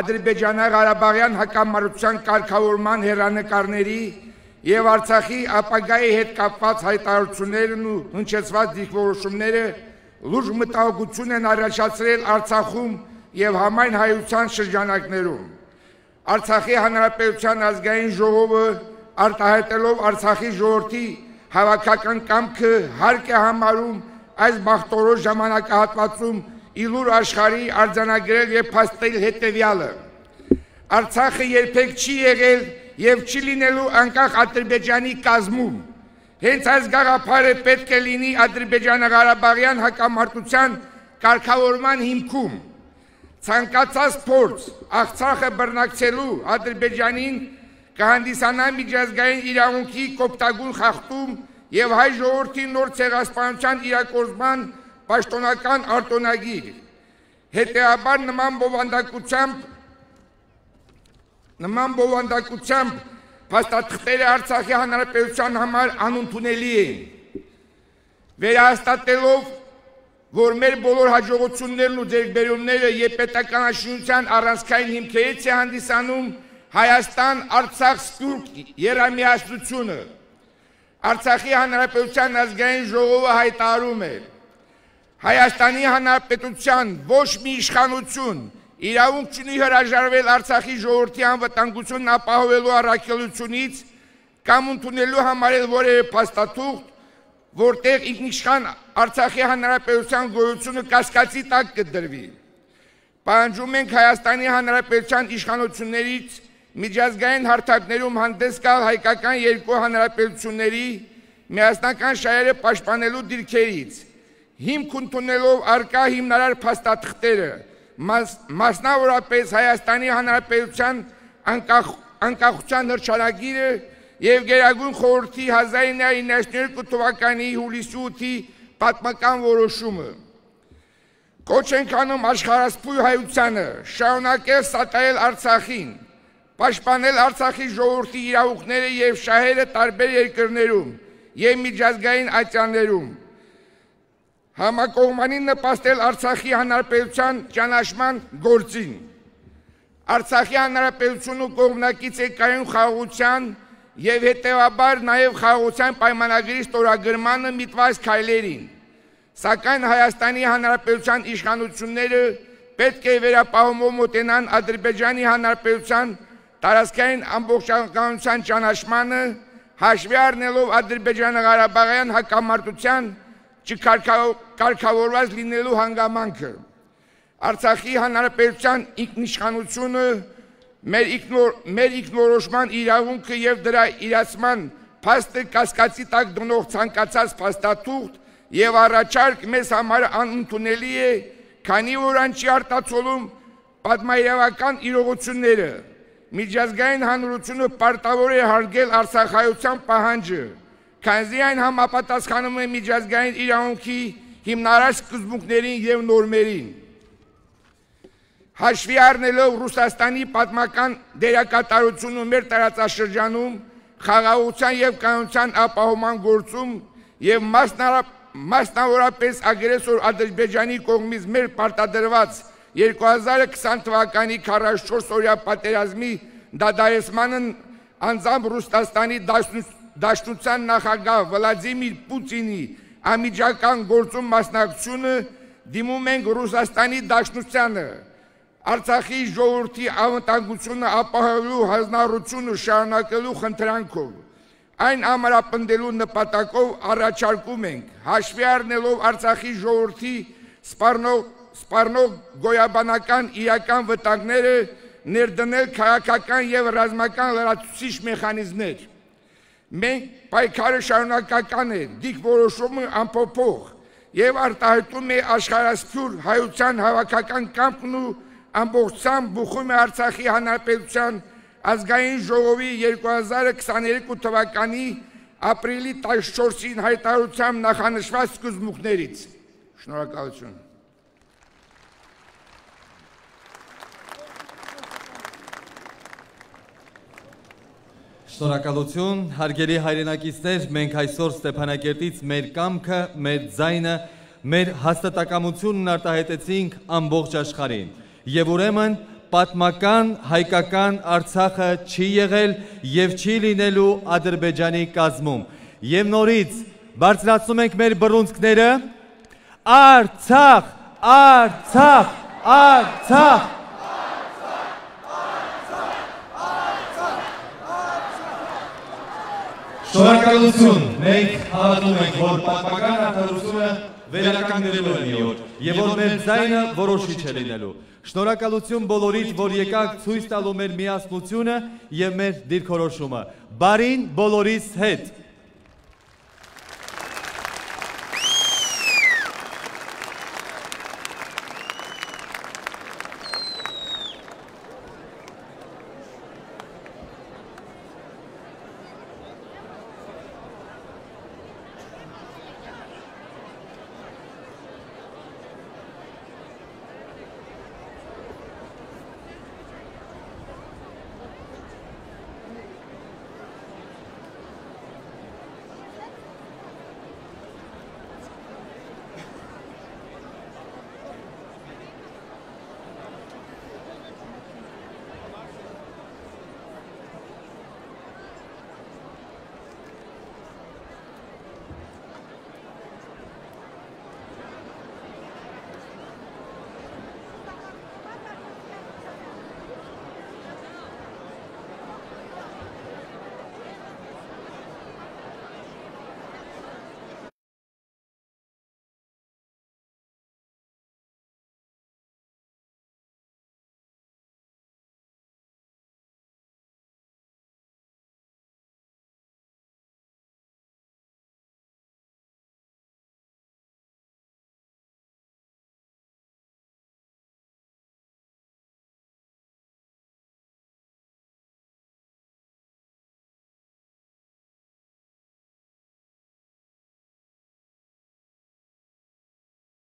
Ադրբեջանա-Ղարաբաղյան հակամարտության կարգավորման հեռանկարների և Արցախի ապագայի հետ կապված հայտարարություններն ու հնչեցված դիրքորոշումները լուրջ մտահոգություն են առաջացրել Արցախում և համայն հայության շրջանակներում։ Արցախի Հանրապետության ազգային ժողովը արտահայտելով Արցախի ժողովրդի հավաքական կամքը հարկ է համարում այս բախտորոշ ժամանակահատվածում իլուր աշխարհի արձանագրել և փաստել հետևյալը. Արցախը երբեք չի եղել և չի լինելու անկախ Ադրբեջանի կազմում։ Հենց այս գաղափարը պետք է լինի Ադրբեջանա-Ղարաբաղյան հակամարտության կարգավորման հիմքում։ Ցանկացած փորձ Արցախը բռնակցելու Ադրբեջանին կհանդիսանա միջազգային իրավունքի կոպտագույն խախտում և հայ ժողովրդի նոր ցեղասպանության իրագործման պաշտոնական արտոնագիր։ Հետևաբար նման բովանդակությամբ փաստաթղթերը Արցախի Հանրապետության համար անընդունելի են։ Վերահաստատելով, որ մեր բոլոր հաջողություններն ու ձեռքբերումները և պետականաշինության առանցքային հիմքերից է հանդիսանում Հայաստան-Արցախ սփյուռք եռամիացությունը, Արցախի Հանրապետության ազգային ժողովը հայտարարում է. Հայաստանի Հանրապետության ոչ մի իշխանություն իրավունք չունի հրաժարվել Արցախի ժողովրդի անվտանգությունն ապահովելու առաքելությունից կամ ընդունելու համարել որևէ փաստաթուղթ, որտեղ ինքնիշխան Արցախի Հանրապետության գոյությունը կասկածի տակ կդրվի։ Պահանջում ենք Հայաստանի Հանրապետության իշխանություններից միջազգային հարթակներում հանդես գալ հայկական երկու հանրապետությունների միասնական շահերը պաշտպանելու դիրքերից, հիմք ընդունելով առկա հիմնարար փաստաթղթերը, մասնավորապես Հայաստանի Հանրապետության անկախության հռչակագիրը եւ Գերագույն խորհրդի 1992 թվականի հուլիսի 8-ի պատմական որոշումը։ Կոչ ենք անում աշխարհասփույ հայությանը շարունակել սատարել Արցախին, պաշտպանել Արցախի ժողովրդի իրավունքները եւ շահերը տարբեր երկրներում եւ միջազգային ատյաններում, համակողմանին նպաստել Արցախի Հանրապետության ճանաչման գործին։ Արցախի Հանրապետությունը կողմնակից է կայուն խաղաղության եւ հետեւաբար նաեւ խաղաղության պայմանագրի ստորագրմանը միտված քայլերին, սակայն Հայաստանի Հանրապետության իշխանությունները պետք է վերապահումով մոտենան Ադրբեջանի Հանրապետության տարածքային ամբողջականության ճանաչմանը, հաշվի առնելով Ադրբեջանա-Ղարաբաղյան հակամարտության չկարգավորված լինելու հանգամանքը։ Արցախի Հանրապետության ինքնիշխանությունը, մեր ինքնորոշման իրավունքը եւ դրա իրացման փաստը կասկածի տակ դնող ցանկացած փաստաթուղթ եւ առաջարկ մեզ համար անընդունելի է, քանի որ այն չի արտացոլում պատմահայկական իրողությունները։ Միջազգային հանրությունը պարտավոր է հարգել արցախայության պահանջը, քանզի այն համապատասխանում է միջազգային իրավունքի հիմնարար սկզբունքներին եւ նորմերին։ Հաշվի առնելով Ռուսաստանի պատմական դերակատարությունը մեր տարածաշրջանում խաղաղության եւ կայունության ապահովման գործում եւ մասնավորապես ագրեսոր Ադրբեջանի կողմից մեր պարտադրված 2020 թվականի 44-օրյա պատերազմի դադարեցմանն անձամբ Ռուսաստանի Դաշնության նախագահ Վլադիմիր Պուտինի անմիջական գործում մասնակցությունը դիմում ենք Ռուսաստանի Դաշնությանը, Արցախի ժողովրդի անվտանգությունը ապահովելու հանձնառությունը շարունակելու խնդրանքով, այն ամրապնդելու նպատակով առաջարկում ենք, հաշվի առնելով Արցախի ժողովրդի սպառնող գոյաբանական իրական վտանգները, ներդնել քաղաքական եւ ռազմական լրացուցիչ մեխանիզմներ։ Մենք պայքարը շարունակական է, դիրքորոշումը անփոփոխ եւ արտահայտում է աշխարհասփյուր հայության հավաքական կամքն ու ամբողջությամբ բուխում է Արցախի Հանրապետության ազգային ժողովի 2022 թվականի ապրիլի 14-ին հայտարարությամբ նախանշված սկզբունքներից։ Շնորհակալություն։ Շնորհակալություն, հարգելի հայրենակիցներ, մենք այսօր Ստեփանակերտից մեր կամքը, մեր ձայնը, մեր հաստատակամությունն արտահայտեցինք ամբողջ աշխարհին։ Եվ ուրեմն պատմական հայկական Արցախը չի եղել եւ չի լինելու Ադրբեջանի կազմում։ Եվ նորից բարձրացնում ենք մեր բռունցքները. Արցախ, Արցախ, Արցախ։ Շնորհակալություն, մենք հավատում ենք, որ պատմական արդարությունը վերականգնելու է մի օր, եւ որ մեր ձայնը որոշիչ է լինելու։ Շնորհակալություն բոլորիդ, որ եկաք ցույց տալու մեր միասնությունը եւ մեր դիրքորոշումը։ Բարին բոլորիս հետ։